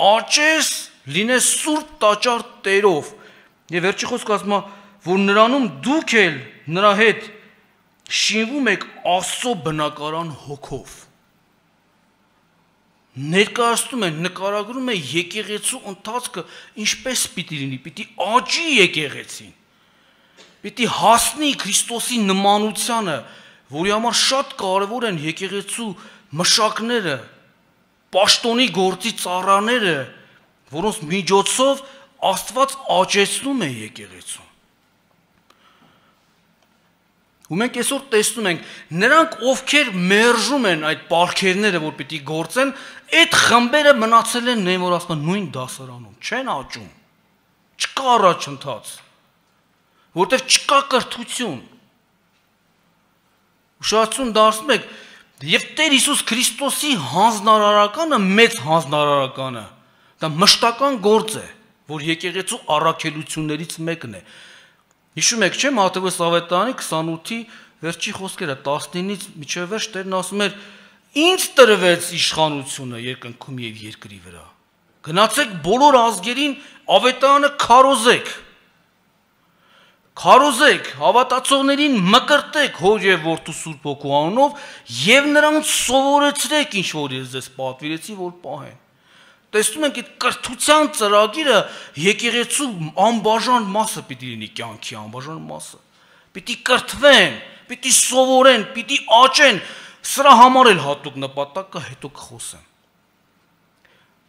աճես, լինես սուրբ տաճար Տերով։ Եվ վերջի խոսքը ասում է, որ նրանում դուք էլ նրա հետ շինվում եք Աստծո բնակարան հոգով։ Ներկայացնում է, նկարագրում է եկեղեցու ընթացքը ինչպես պիտի լինի, պիտի աճի եկեղեցին, պիտի հասնի Քրիստոսի նմանությանը, որի համար շատ կարևոր են եկեղեցու մշակները, պաշտոնի գործի ծառաները, որոնց միջոցով Աստված աճեցնում է եկեղեցուն։ Ու մենք այսօր տեսնում ենք, նրանք ովքեր մերժում են այդ պարգևները, որ պիտի գործեն, այդ խմբերը մնացել են նույն որ ասում նույն դասարանում, չեն աճում, չկա առաջընթաց, որտեղ չկա կրթություն։ Ուշադրություն դարձնում եք, եւ Տեր Հիսուս Քրիստոսի հանձնարարականը, մեծ հանձնարարականը, դա մշտական գործ է, որ եկեղեցու առաքելություններից մեկն է։ Հիշում եք, չէ՞, Մատթեոս ավետարանի քսանութի վերջի խոսքերը տասնինից մինչև վերջ Տերն ասում էր. «Ինձ տրվեց իշխանությունը երկնքում եւ երկրի վրա։ Գնացեք բոլոր ազգերին ավետարանը քարոզեք։ Քարոզեք, հավատացողներին մկրտեք Հոր եւ Որդու Սուրբ Հոգու անունով եւ նրանց սովորեցրեք, ինչ որ ես ձեզ պատվիրեցի, որ պահեն»։ Տեսնում ենք, այդ կրթության ծրագիրը եկեղեցու անբաժան մասը պիտի լինի, կյանքի անբաժան մասը։ Պիտի կրթվեն, պիտի սովորեն, պիտի աճեն, սրա համար էլ հատուկ նպատակ կա, հետո կխոսեմ։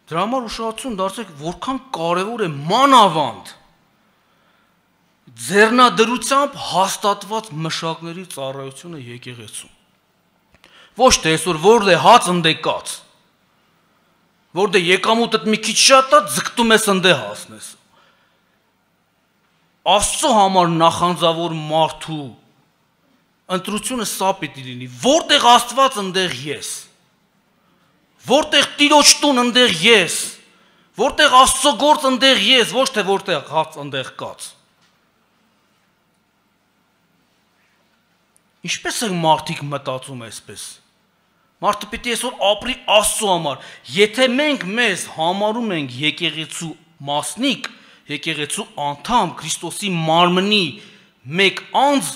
Դրա համար ուշադրություն դարձեք, որքան կարևոր է մանավանդ ձեռնադրությամբ հաստատված մշակների ծառայությունը եկեղեցում։ Ոչ թե այսօր որտե հաց ընդեկած, որտե եկամուտդ մի քիչ շատ է, ձգտում ես ընդե հասնես։ Աստծո համար նախանձավոր մարդու ընտրությունը սա պիտի լինի, որտեղ Աստված ընդեղ ես, որտեղ Տիրոջ տուն ընդեղ ես, որտեղ Աստծո գործ ընդեղ ես, ոչ թե որտեղ հաց ընդեղ կաց։ Ինչպես են մարդիկ մտածում այսպես։ Մարդը պիտի այսօր ապրի Աստծո համար։ Եթե մենք մեզ համարում ենք եկեղեցու մասնիկ, եկեղեցու անդամ, Քրիստոսի մարմնի մեկ անձ,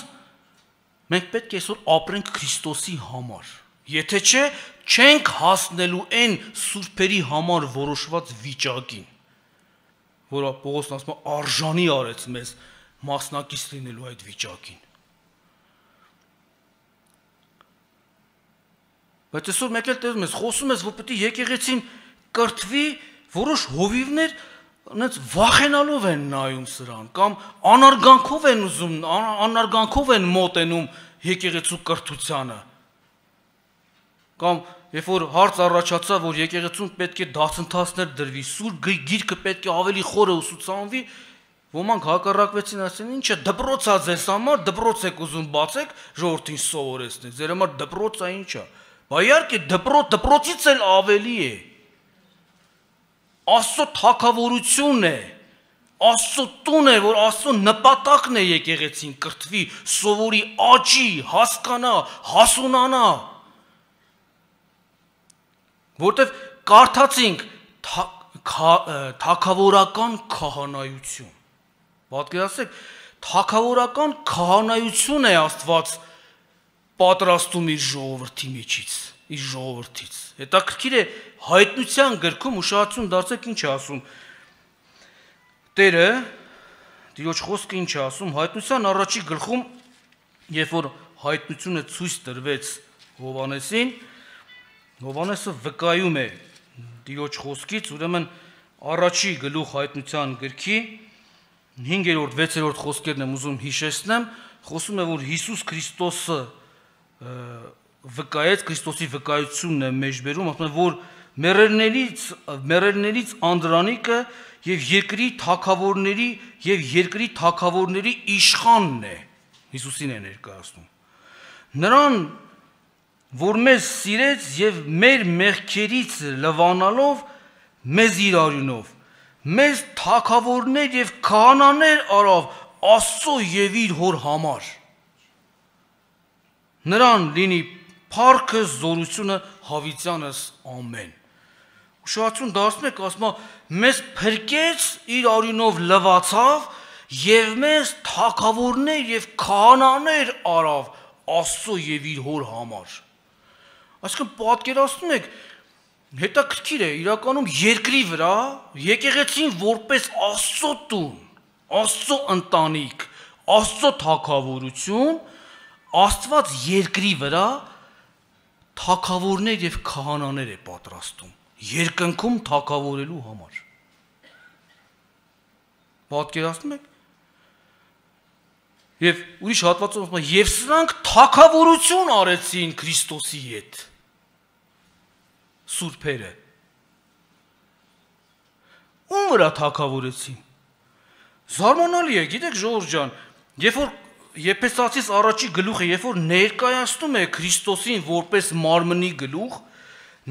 մենք պետք է այսօր ապրենք Քրիստոսի համար։ Եթե չէ, չենք հասնելու այն սուրբերի համար որոշված վիճակին, որը Պողոսն ասում է արժանի արեց մեզ մասնակից լինելու այդ վիճակին։ Բայց այսօր մեկ էլ տեսնում ես, խոսում ես, որ պետք է եկեղեցին կրթվի, որոշ հովիվներ այնց վախենալով են նայում սրան, կամ անարգանքով են ուզում, անարգանքով են մոտենում եկեղեցու կրթությանը։ Կամ երբ որ հարց առաջացա, որ եկեղեցուն պետք է դասընթացներ դրվի, սուրբ գիրքը պետք է ավելի խորը ուսուցանվի, ոմանք հակառակվեցին, ասեն, ինչ է, դպրոց է ձեզ համար, դպրոց եք ուզում բացեք, ժողովրդին սովորեցնեք, ձեր համար դպրոց է ինչ է։ Բա իհարկե դպրոց, դպրոցից էլ ավելի է։ Աստծո թագավորությունն է, Աստծո տուն է, որ Աստծո նպատակն է եկեղեցին կրթվի, սովորի, աճի, հասկանա, հասունանա։ Որտեվ կարդացինք թագավորական քահանայություն։ Պատկերացրեք, թագավորական քահանայություն է Աստված պատրաստում իր ժողովրդի միջից, իր ժողովրդից։ Հետաքրքիր է Հայտնության գրքում ուշադրություն դարձեք ինչ է ասում։ Տերը Տիրոջ խոսքը ինչ է ասում Հայտնության առաջի գլխում, երբ որ հայտնությունը ցույց տրվեց Հովհաննեսին, Հովհաննեսը վկայում է Տիրոջ խոսքից, ուրեմն առաջի գլուխ Հայտնության գրքի հինգերորդ, վեցերորդ խոսքերն եմ ուզում հիշեցնեմ, խոսում է, որ Հիսուս Քրիստոսը վկայեց, Քրիստոսի վկայությունն է մեջբերում, ասում է, որ մեռելներից, մեռելներից Անդրանիկը եւ երկրի թագավորների եւ երկրի թագավորների իշխանն է, Հիսուսին է ներկայացնում։ Նրան, որ մեզ սիրեց եւ մեր մեղքերից լվանալով մեզ իր արյունով, մեզ թագավորներ եւ քահանաներ արավ Աստծո եւ իր հոր համար։ Նրան լինի փառքը, զորությունը հավիտյանս ամեն։ Ուշադրություն դարձնեք, ասում է, մեզ փրկեց իր արյունով լվացավ եւ մեզ թագավորներ եւ քահանաներ արավ Աստծո եւ իր հոր համար։ Այսինքն պատկերացնում եք, հետաքրքիր է, իրականում երկրի վրա եկեղեցին որպես Աստծո տուն, Աստծո ընտանիք, Աստծո թագավորություն, Աստված երկրի վրա թագավորներ եւ քահանաներ է պատրաստում, երկնքում թագավորելու համար։ Պատկերացնում եք։ Եվ ուրիշ հատվածում ասում է, եւ սրանք թագավորություն արեցին Քրիստոսի հետ։ Սուրբերը։ Ում վրա թագավորեցին։ Զարմանալի է, գիտեք ժողովուրդ ջան, երբ որ Եփեսացիս առաջի գլուխը, երբ որ ներկայացնում է Քրիստոսին որպես մարմնի գլուխ,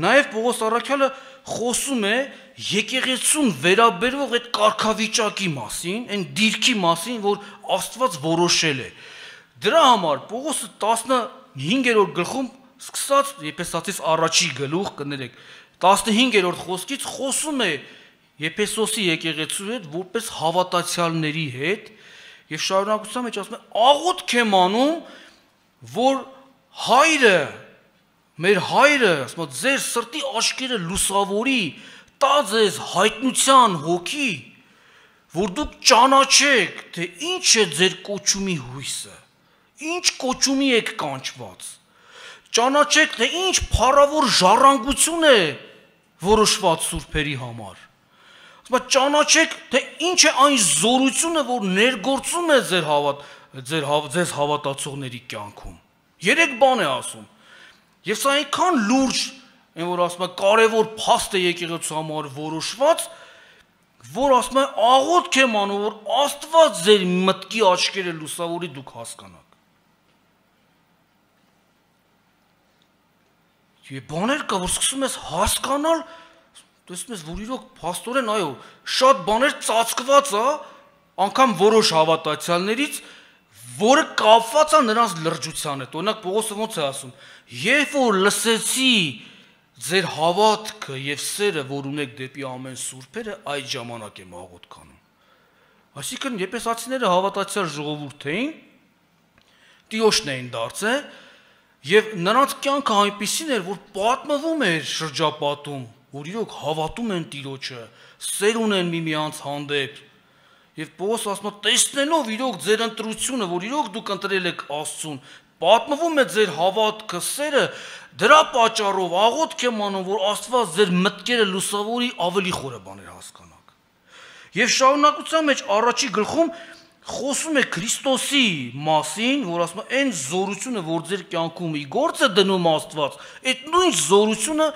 նաև Պողոս առաքյալը խոսում է եկեղեցուն վերաբերող այդ կարգավիճակի մասին, այն դիրքի մասին, որ Աստված որոշել է։ Դրա համար Պողոսը տասնհինգերորդ գլխում սկսած Եփեսացիս առաջի գլուխ, կներեք, տասնհինգերորդ խոսքից խոսում է Եփեսոսի եկեղեցու հետ որպես հավատացյալների հետ եւ շարունակության մեջ ասում է աղոթք եմ անում, որ հայրը, մեր հայրը, ասում է ձեր սրտի աչքերը լուսավորի, տա ձեզ հայտնության հոգի, որ դուք ճանաչեք, թե ինչ է ձեր կոչումի հույսը, ինչ կոչումի եք կանչված, ճանաչեք, թե ինչ փառավոր ժառանգություն է որոշված սուրբերի համար։ Ճանաչեք, թե ինչ է այն զորությունը, որ ներգործում է ձեր հավատ, ձեր ձեզ հավատացողների կյանքում։ Երեք բան է ասում։ Եվ սա այնքան լուրջ, այն որ ասում է կարևոր փաստ է եկեղեցու համար որոշված, որ ասում է աղոթք եմ անում, որ Աստված ձեր մտքի աչքերը լուսավորի դուք հասկանաք։ Եվ բաներ կա, որ սկսում ես հասկանալ, տեսնում ես, որ իրոք փաստորեն, այո, շատ բաներ ծածկված է, անգամ որոշ հավատացյալներից, որը կապված է նրանց լրջության հետ։ Օրինակ Պողոսը ոնց է ասում. երբ որ լսեցի ձեր հավատքը եւ սերը, որ ունեք դեպի ամեն սուրբերը, այդ ժամանակ եմ աղոթք անում։ Այսինքն եփեսացիները հավատացյալ ժողովուրդ էին, Տիրոջն էին դարձել, եւ նրանց կյանքը այնպիսին էր, որ պատմվում էր շրջապատում, որ իրոք հավատում են Տիրոջը, սեր ունեն միմյանց հանդեպ։ Եվ Պողոս ասում է, տեսնելով իրոք ձեր ընտրությունը, որ իրոք դուք ընտրել եք Աստծուն, պատմվում է ձեր հավատքը, սերը, դրա պատճառով աղոթք եմ անում, որ Աստված ձեր մտքերը լուսավորի, ավելի խորը բաներ հասկանաք։ Եվ շարունակության մեջ առաջի գլխում խոսում է Քրիստոսի մասին, որ ասում է այն զորությունը, որ ձեր կյանքում ի գործ է դնում Աստված, այդ նույն զորությունը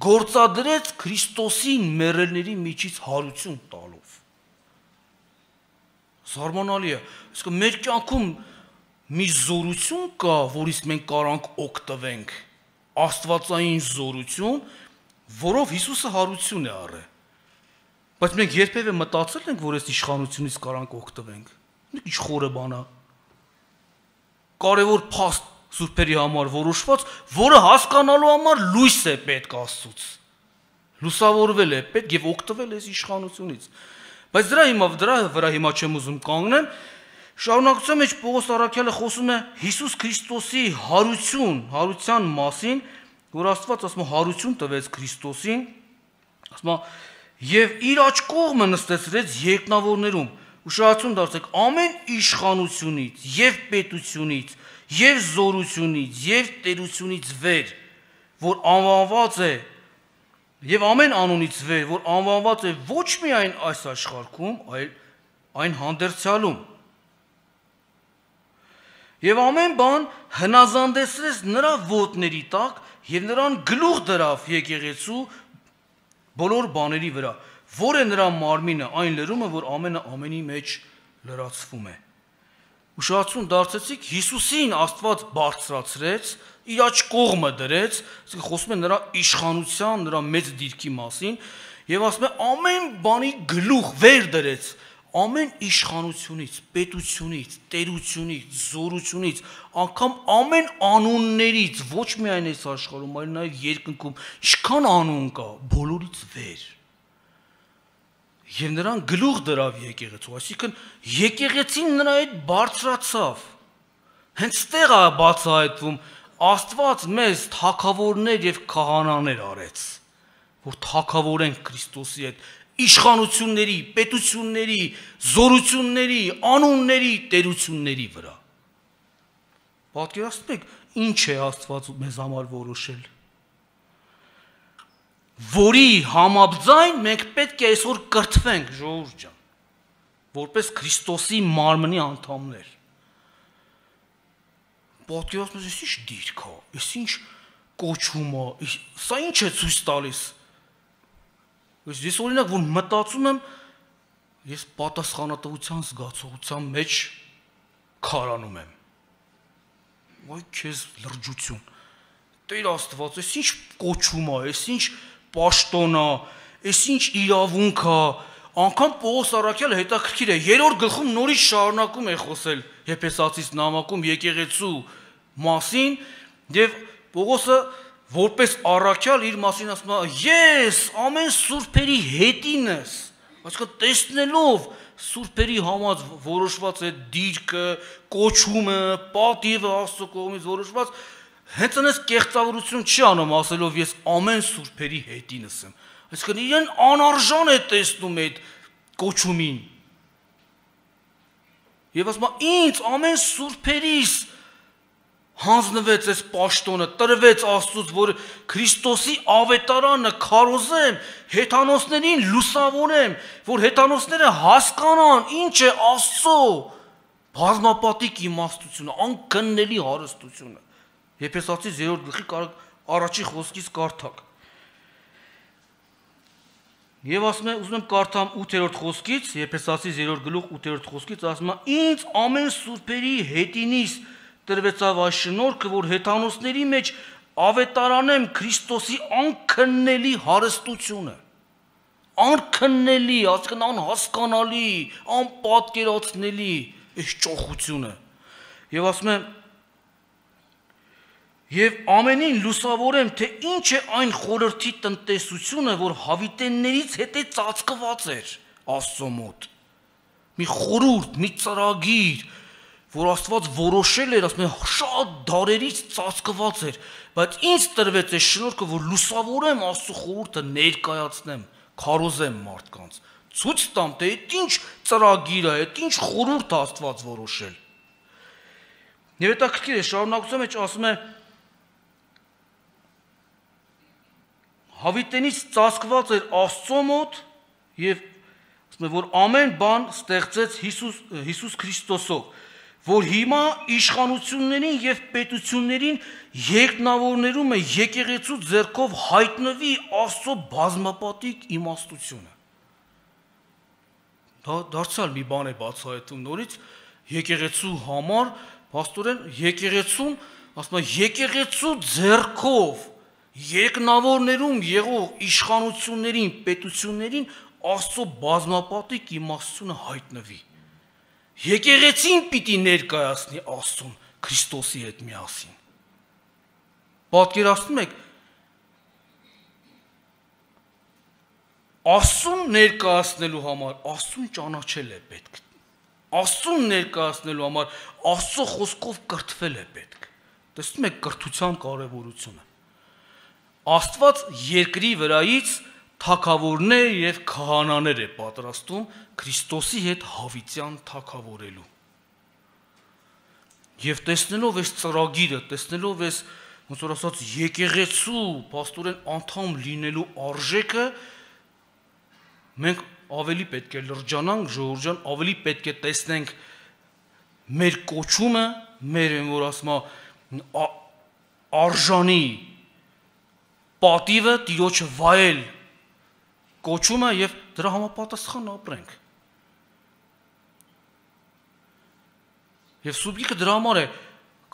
գործադրեց Քրիստոսին մեռելների միջից հարություն տալով։ Զարմանալի է, իսկ մեր կյանքում մի զորություն կա, որից մենք կարանք օգտվենք, աստվածային զորություն, որով Հիսուսը հարություն է առել։ Բայց մենք երբևէ մտածել ենք, որ այս իշխանությունից կարանք օգտվենք։ Ինչ խորը բան է։ Կարևոր փաստ սուրբերի համար որոշված, որը հասկանալու համար լույս է պետք Աստծուց։ Լուսավորվել է պետք եւ օգտվել այս իշխանությունից։ Բայց դրա հիմա դրա վրա հիմա չեմ ուզում կանգնեմ։ Շարունակության մեջ Պողոս առաքյալը խոսում է Հիսուս Քրիստոսի հարություն, հարության մասին, որ Աստված ասում է հարություն տվեց Քրիստոսին, ասում է եւ իր աջ կողմը նստեցրեց երկնավորներում։ Ուշադրություն դարձեք, ամեն իշխանությունից եւ պետությունից եւ զորությունից եւ տերությունից վեր, որ անվանված է եւ ամեն անունից վեր, որ անվանված է ոչ միայն այս աշխարհում, այլ այն հանդերձյալում։ Եվ ամեն բան հնազանդեցրեց նրա ոտների տակ եւ նրան գլուխ դրավ եկեղեցու բոլոր բաների վրա, որ է նրա մարմինը, այն լրումը, որ ամենը ամենի մեջ լրացվում է։ Ուշադրություն դարձեցիք, Հիսուսին Աստված բարձրացրեց, իր աջ կողմը դրեց, ասենք խոսում է նրա իշխանության, նրա մեծ դիրքի մասին, եւ ասում է ամեն բանի գլուխ վեր դրեց, ամեն իշխանությունից, պետությունից, տերությունից, զորությունից, անգամ ամեն անուններից, ոչ միայն այս աշխարհում, այլ նաև երկնքում, ինչքան անուն կա, բոլորից վեր։ Եվ նրան գլուխ դրավ եկեղեցու, այսինքն եկեղեցին նրա հետ բարձրացավ։ Հենց ստեղ է բացահայտվում Աստված մեզ թագավորներ եւ քահանաներ արեց, որ թագավորենք Քրիստոսի հետ իշխանությունների, պետությունների, զորությունների, անունների, տերությունների վրա։ Պատկերացնեք, ինչ է Աստված մեզ համար որոշել։ Որի համաձայն մենք պետք է այսօր կրթվենք, ժողովուրդ ջան, որպես Քրիստոսի մարմնի անդամներ։ Պատկերացնեք, այս ինչ դիրք է, այս ինչ կոչում է, սա ինչ է ցույց տալիս։ Ես օրինակ որ մտածում եմ, ես պատասխանատվության զգացողության մեջ քարանում եմ։ Ոայ քեզ լրջություն։ Տեր Աստված, այս ինչ կոչում է, այս ինչ պաշտոն է, այս ինչ իրավունք է, անգամ Պողոս առաքյալը հետաքրքիր է, երրորդ գլխում նորից շարունակում է խոսել Եփեսացիս նամակում եկեղեցու մասին, եւ Պողոսը որպես առաքյալ իր մասին ասում է, ես ամեն սուրբերի հետինս, այսինքն տեսնելով սուրբերի համար որոշված է դիրքը, կոչումը, պատիվը Աստծո կողմից որոշված, հենց այնպես կեղծավորություն չի անում ասելով ես ամեն սուրբերի հետինս եմ։ Այսինքն իրեն անարժան է տեսնում այդ կոչումին։ Եվ ասում է ինձ ամեն սուրբերիս հանձնվեց այս պաշտոնը, տրվեց Աստծուց, որ Քրիստոսի ավետարանը քարոզեմ, հեթանոսներին լուսավորեմ, որ հեթանոսները հասկանան ինչ է Աստծո բազմապատիկ իմաստությունը, անկննելի հարստությունը։ Եփեսացիս երրորդ գլխի առաջի խոսքից կարդակ։ Եվ ասում է, ուզում եմ կարդամ ութերորդ խոսքից, Եփեսացիս երրորդ գլուխ ութերորդ խոսքից ասում է. ինձ ամեն սուրբերի հետինից տրվեցավ այս շնորհքը, որ հեթանոսների մեջ ավետարանեմ Քրիստոսի անքննելի հարստությունը, անքննելի, այսինքն անհասկանալի, անպատկերացնելի այս ճոխությունը։ Եվ ասում է, եւ ամենին լուսավորեմ, թե ինչ է այն խորհրդի տնտեսությունը, որ հավիտեններից հետե ծածկված էր Աստծո մոտ։ Մի խորհուրդ, մի ծրագիր, որ Աստված որոշել էր, ասում է, շատ դարերից ծածկված էր, բայց ինձ տրվեց այս շնորհքը, որ լուսավորեմ Աստծո խորհուրդը ներկայացնեմ, քարոզեմ մարդկանց, ցույց տամ, թե այդ ինչ ծրագիր է, այդ ինչ խորհուրդ է Աստված որոշել։ Եվ հետաքրքիր է, շարունակության մեջ ասում է, հավիտենից ծածկված էր Աստծո մոտ եւ ասում է, որ ամեն բան ստեղծեց Հիսուս Հիսուս Քրիստոսով, որ հիմա իշխանություններին եւ պետություններին երկնավորներում է եկեղեցու ձեռքով հայտնվի Աստծո բազմապատիկ իմաստությունը։ Դա դարձյալ մի բան է բացահայտում նորից եկեղեցու համար, փաստորեն եկեղեցուն, ասում է, եկեղեցու ձեռքով երկնավորներում եղող իշխանություններին, պետություններին Աստծո բազմապատիկ իմաստությունը հայտնվի։ Եկեղեցին պիտի ներկայացնի Աստծուն Քրիստոսի հետ միասին։ Պատկերացնում եք, Աստծուն ներկայացնելու համար Աստծուն ճանաչել է պետք։ Աստծուն ներկայացնելու համար Աստծո խոսքով կրթվել է պետք։ Տեսնում եք կրթության կարևորությունը։ Աստված երկրի վրայից թագավորներ եւ քահանաներ է պատրաստում Քրիստոսի հետ հավիտյան թագավորելու։ Եվ տեսնելով այս ծրագիրը, տեսնելով այս ոնց որ ասած եկեղեցու փաստորեն անդամ լինելու արժեքը, մենք ավելի պետք է լրջանանք, ժողովուրդ ջան, ավելի պետք է տեսնենք մեր կոչումը, մեր որ ասում արժանի պատիվը Տիրոջը վայել կոչումը եւ դրա համապատասխան ապրենք։ Եվ Սուրբ դրա համար է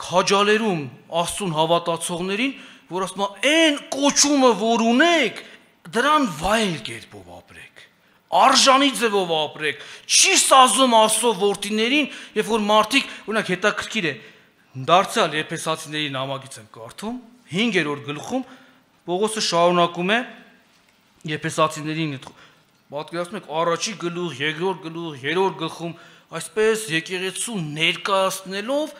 քաջալերում Աստծուն հավատացողներին, որ ասում է այն կոչումը, որ ունեք, դրան վայել կերպով ապրեք, արժանի ձևով ապրեք, չի սազում Աստծո որդիներին, երբ որ մարդիկ, օրինակ հետաքրքիր է, դարձյալ Եփեսացիների նամակից եմ կարդում, հինգերորդ գլխում Պողոսը շարունակում է Եփեսացիներին, պատկերացնում եք առաջի գլուխ, երկրորդ գլուխ, երրորդ գլխում, այսպես եկեղեցու ներկայացնելով,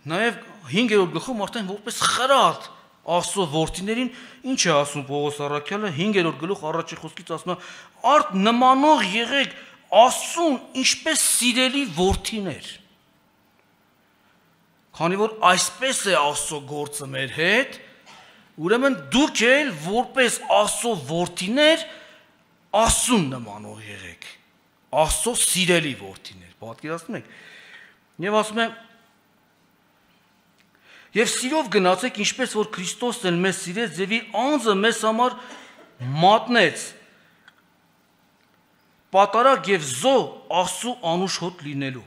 նաև հինգերորդ գլխում արդեն որպես խրատ Աստծո որդիներին, ինչ է ասում Պողոս առաքյալը, հինգերորդ գլուխ առաջի խոսքից ասում է. «Արդ նմանող եղեք Աստծուն ինչպես սիրելի որդիներ»։ Քանի որ այսպես է Աստծո գործը մեր հետ, ուրեմն դուք էլ որպես Աստծո որդիներ Աստծուն նմանող եղեք, Աստծո սիրելի որդիներ, պատկերացնում եք։ Եվ ասում է. «Եվ սիրով գնացեք, ինչպես որ Քրիստոսն էլ մեզ սիրեց եւ իր անձը մեզ համար մատնեց, պատարագ եւ զո Աստծու անուշ հոտ լինելու։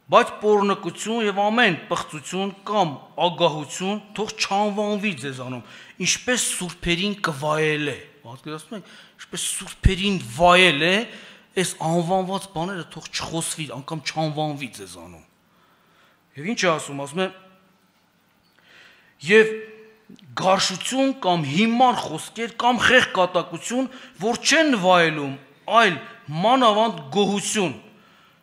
Բայց պոռնկություն եւ ամեն պղծություն կամ ագահություն թող չանվանվի ձեզանում, ինչպես սուրբերին կվայել է»։ Պատկերացնում եք, ինչպես սուրբերին վայել է, այս անվանված բաները թող չխոսվի, անգամ չանվանվի ձեզանում։ Եվ ինչ է ասում, ասում է. «Եվ գարշություն կամ հիմար խոսքեր կամ խեղ կատակություն, որ չեն վայելում, այլ մանավանդ գոհություն,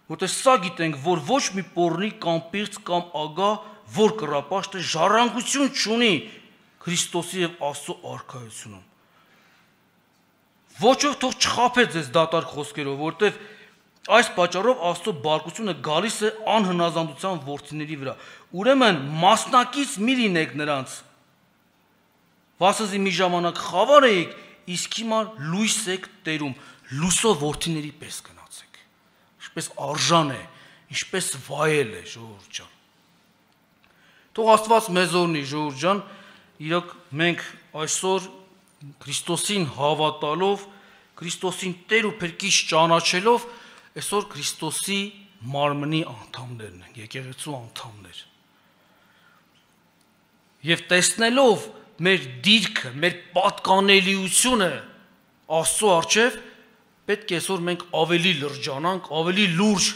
որտեղ սա գիտենք, որ ոչ մի պոռնի կամ պիղծ կամ ագահ, որ կռապաշտը ժառանգություն չունի Քրիստոսի եւ Աստծո արքայությունում։ Ոչով թող չխաբե ձեզ դատարկ խոսքերով, որտեղ այս պատճառով Աստծո բարկությունը գալիս է անհնազանդության որդիների վրա։ Ուրեմն մասնակից մի լինեք նրանց, վասնզի մի ժամանակ խավար էիք, իսկ հիմա լույս եք տերում, լույսով որդիների պես գնացեք։ Ինչպես արժան է, ինչպես վայել է, ժողովուրդ ջան։ Թող Աստված մեզ օրհնի, ժողովուրդ ջան, իրոք մենք այսօր Քրիստոսին հավատալով, Քրիստոսին Տեր ու Փրկիչ ճանաչելով, այսօր Քրիստոսի մարմնի անդամներն են, եկեղեցու անդամներ։ Եվ տեսնելով մեր դիրքը, մեր պատկանելիությունը Աստծո առջև, պետք է այսօր մենք ավելի լրջանանք, ավելի լուրջ,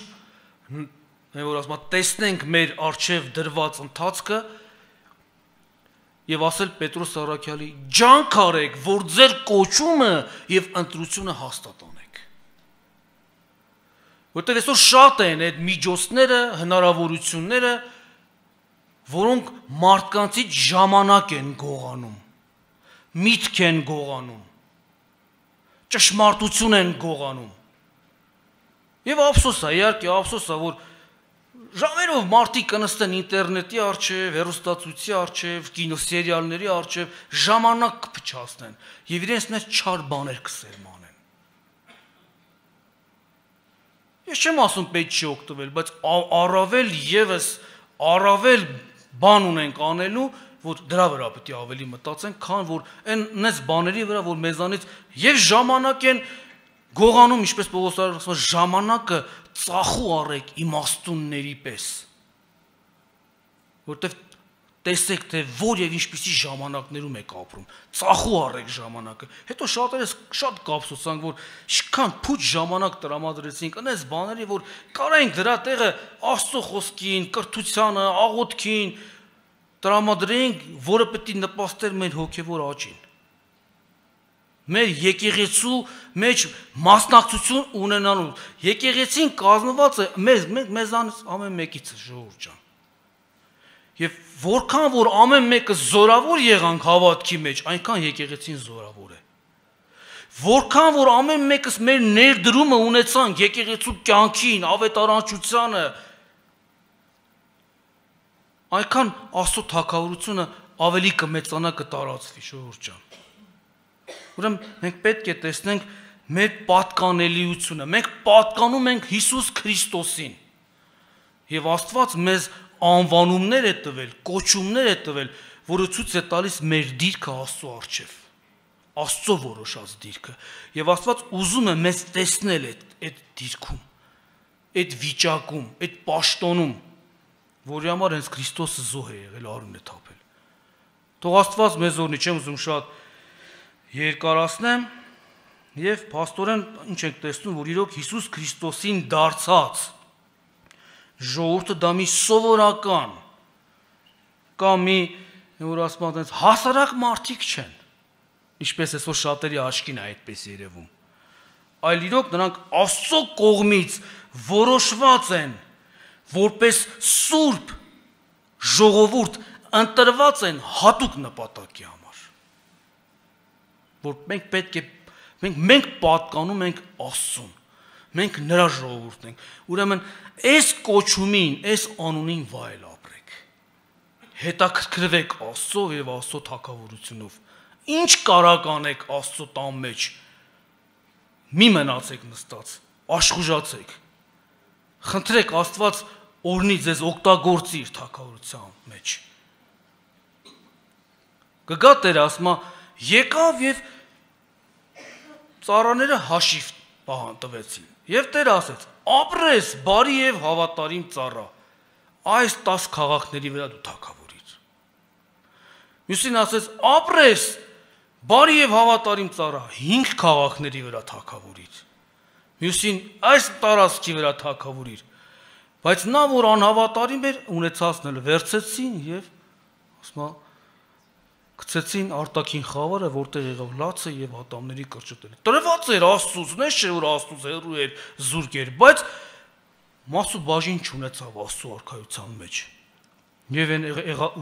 որ ասում տեսնենք մեր առջև դրված ընթացքը եւ ասել Պետրոս առաքյալի. «Ջանք արեք, որ ձեր կոչումը եւ ընտրությունը հաստատանեք»։ Որտեղ այսօր շատ են այդ միջոցները, հնարավորությունները, որոնք մարդկանցից ժամանակ են գողանում, միտք են գողանում, ճշմարտություն են գողանում։ Եվ ափսոս է, իհարկե ափսոս է, որ ժամերով մարդիկ կնստեն ինտերնետի առջև, հեռուստացույցի առջև, կինոսերիալների առջև, ժամանակ կփչացնեն եւ իրենց մեջ չար բաներ կսերմանեն։ Ես չեմ ասում պետք չի օգտվել, բայց առավել եւս առավել բան ունենք անելու, որ դրա վրա պետք է ավելի մտածենք, քան որ այնպես բաների վրա, որ մեզանից եւ ժամանակ են գողանում, ինչպես Պողոս ասում է, ժամանակը ծախու առեք իմաստունների պես, որտեվ տեսեք, թե որ եւ ինչպիսի ժամանակներում եք ապրում։ Ծախու առեք ժամանակը։ Հետո շատերս շատ կապսոսանք, որ ինչքան փուչ ժամանակ տրամադրեցինք այնպես բաների, որ կարայինք դրա տեղը Աստծո խոսքին, կրթությանը, աղոթքին տրամադրենք, որը պետք է նպաստեր մեր հոգեվոր աճին։ Մեր եկեղեցու մեջ մասնակցություն ունենալու։ Եկեղեցին կազմված է մեզ մեզանից ամեն մեկից ժողովուրդ ջան։ Եվ որքան որ ամեն մեկը զորավոր եղանք հավատքի մեջ, այնքան եկեղեցին զորավոր է։ Որքան որ ամեն մեկս մեր ներդրումը ունեցանք եկեղեցու կյանքին, ավետարանչությանը, այնքան Աստծո թագավորությունը ավելի կմեծանա, կտարածվի, ժողովուրդ ջան։ Ուրեմն մենք պետք է տեսնենք մեր պատկանելիությունը, մենք պատկանում ենք Հիսուս Քրիստոսին։ Եվ Աստված մեզ անվանումներ է տվել, կոչումներ է տվել, որը ցույց է տալիս մեր դիրքը Աստծո առջև, Աստծո որոշած դիրքը։ Եվ Աստված ուզում է մեզ տեսնել այդ այդ դիրքում, այդ վիճակում, այդ պաշտոնում, որի համար հենց Քրիստոսը զոհ է եղել, արուն է թափել։ Թող Աստված մեզ օրհնի, չեմ ուզում շատ երկարացնեմ, եւ փաստորեն ինչ ենք տեսնում, որ իրոք Հիսուս Քրիստոսին դարձած ժողովուրդը դա մի սովորական կամ մի որ ասում են հասարակ մարդիկ չեն, ինչպես այսօր շատերի աչքին է այդպես երևում, այլ իրոք նրանք Աստծո կողմից որոշված են, որպես սուրբ ժողովուրդ ընտրված են հատուկ նպատակի համար, որ մենք պետք է մենք մենք պատկանում ենք Աստծուն, մենք նրա ժողովուրդն ենք, ուրեմն այս կոչումին, այս անունին վայել ապրեք, հետաքրքրվեք Աստծով եւ Աստծո թագավորությունով, ինչ կարակ անեք Աստծո տան մեջ, մի մնացեք նստած, աշխուժացեք, խնդրեք Աստված օրհնի ձեզ օգտագործի իր թագավորության մեջ։ Կգա Տերը ասма եկավ եւ ծառաները հաշիվ պահան տվեցին։ Եվ Տերը ասեց. ապրես բարի եւ հավատարիմ ծառա, այս տասը քաղաքների վրա դու թագավորիր։ Մյուսին ասեց. ապրես բարի եւ հավատարիմ ծառա, հինգ քաղաքների վրա թագավորիր։ Մյուսին այս տարածքի վրա թագավորիր։ Բայց նա որ անհավատարիմ էր, ունեցածն էլ վերցեցին եւ ասма գցեցին արտաքին խավարը, որտեղ եղավ լացը եւ ատամների կրճտել։ Տրված էր Աստծուց, նես չէ որ Աստծուց հեռու էր, զուրկ էր, բայց մասու բաժին չունեցավ Աստծո արքայության մեջ։ Եվ այն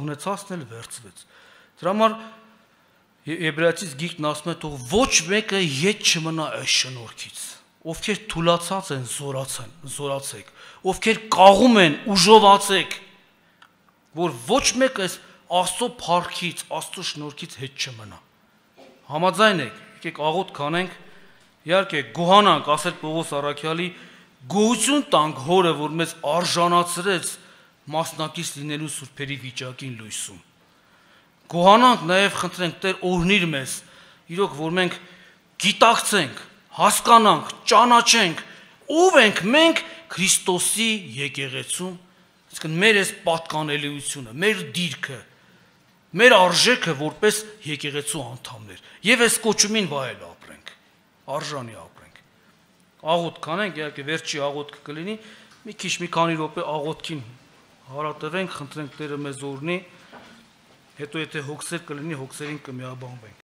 ունեցածն էլ վերցվեց։ Դրա համար Եբրայեցիս գիրքն ասում է, թող ոչ մեկը ետ չմնա այս շնորհքից, ովքեր թուլացած են, զորացան, զորացեք, ովքեր կաղում են, ուժովացեք, որ ոչ մեկը այս Աստծո փառքից, Աստծո շնորհքից հետ չմնա։ Համաձայն եք, եկեք աղոթք կանենք, իհարկե գոհանանք, ասել Պողոս առաքյալի, գոհություն տանք Հորը, որ մեզ արժանացրեց մասնակից լինելու սուրբերի վիճակին լույսում։ Գոհանանք նաև խնդրենք Տեր օրհնիր մեզ, իրոք որ մենք գիտակցենք, հասկանանք, ճանաչենք, ով ենք մենք Քրիստոսի եկեղեցում, այսինքն մեր այս պատկանելիությունը, մեր դիրքը, մեր արժեքը որպես եկեղեցու անդամներ, եւ այս կոչումին վայել ապրենք, արժանի ապրենք։ Աղոթք կանենք, իհարկե վերջի աղոթքը կլինի, մի քիչ մի քանի րոպե աղոթքին հարատևենք, խնդրենք Տերը մեզ օրհնի, հետո եթե հոգսեր կլինի, հոգսերին կմիաբանվենք։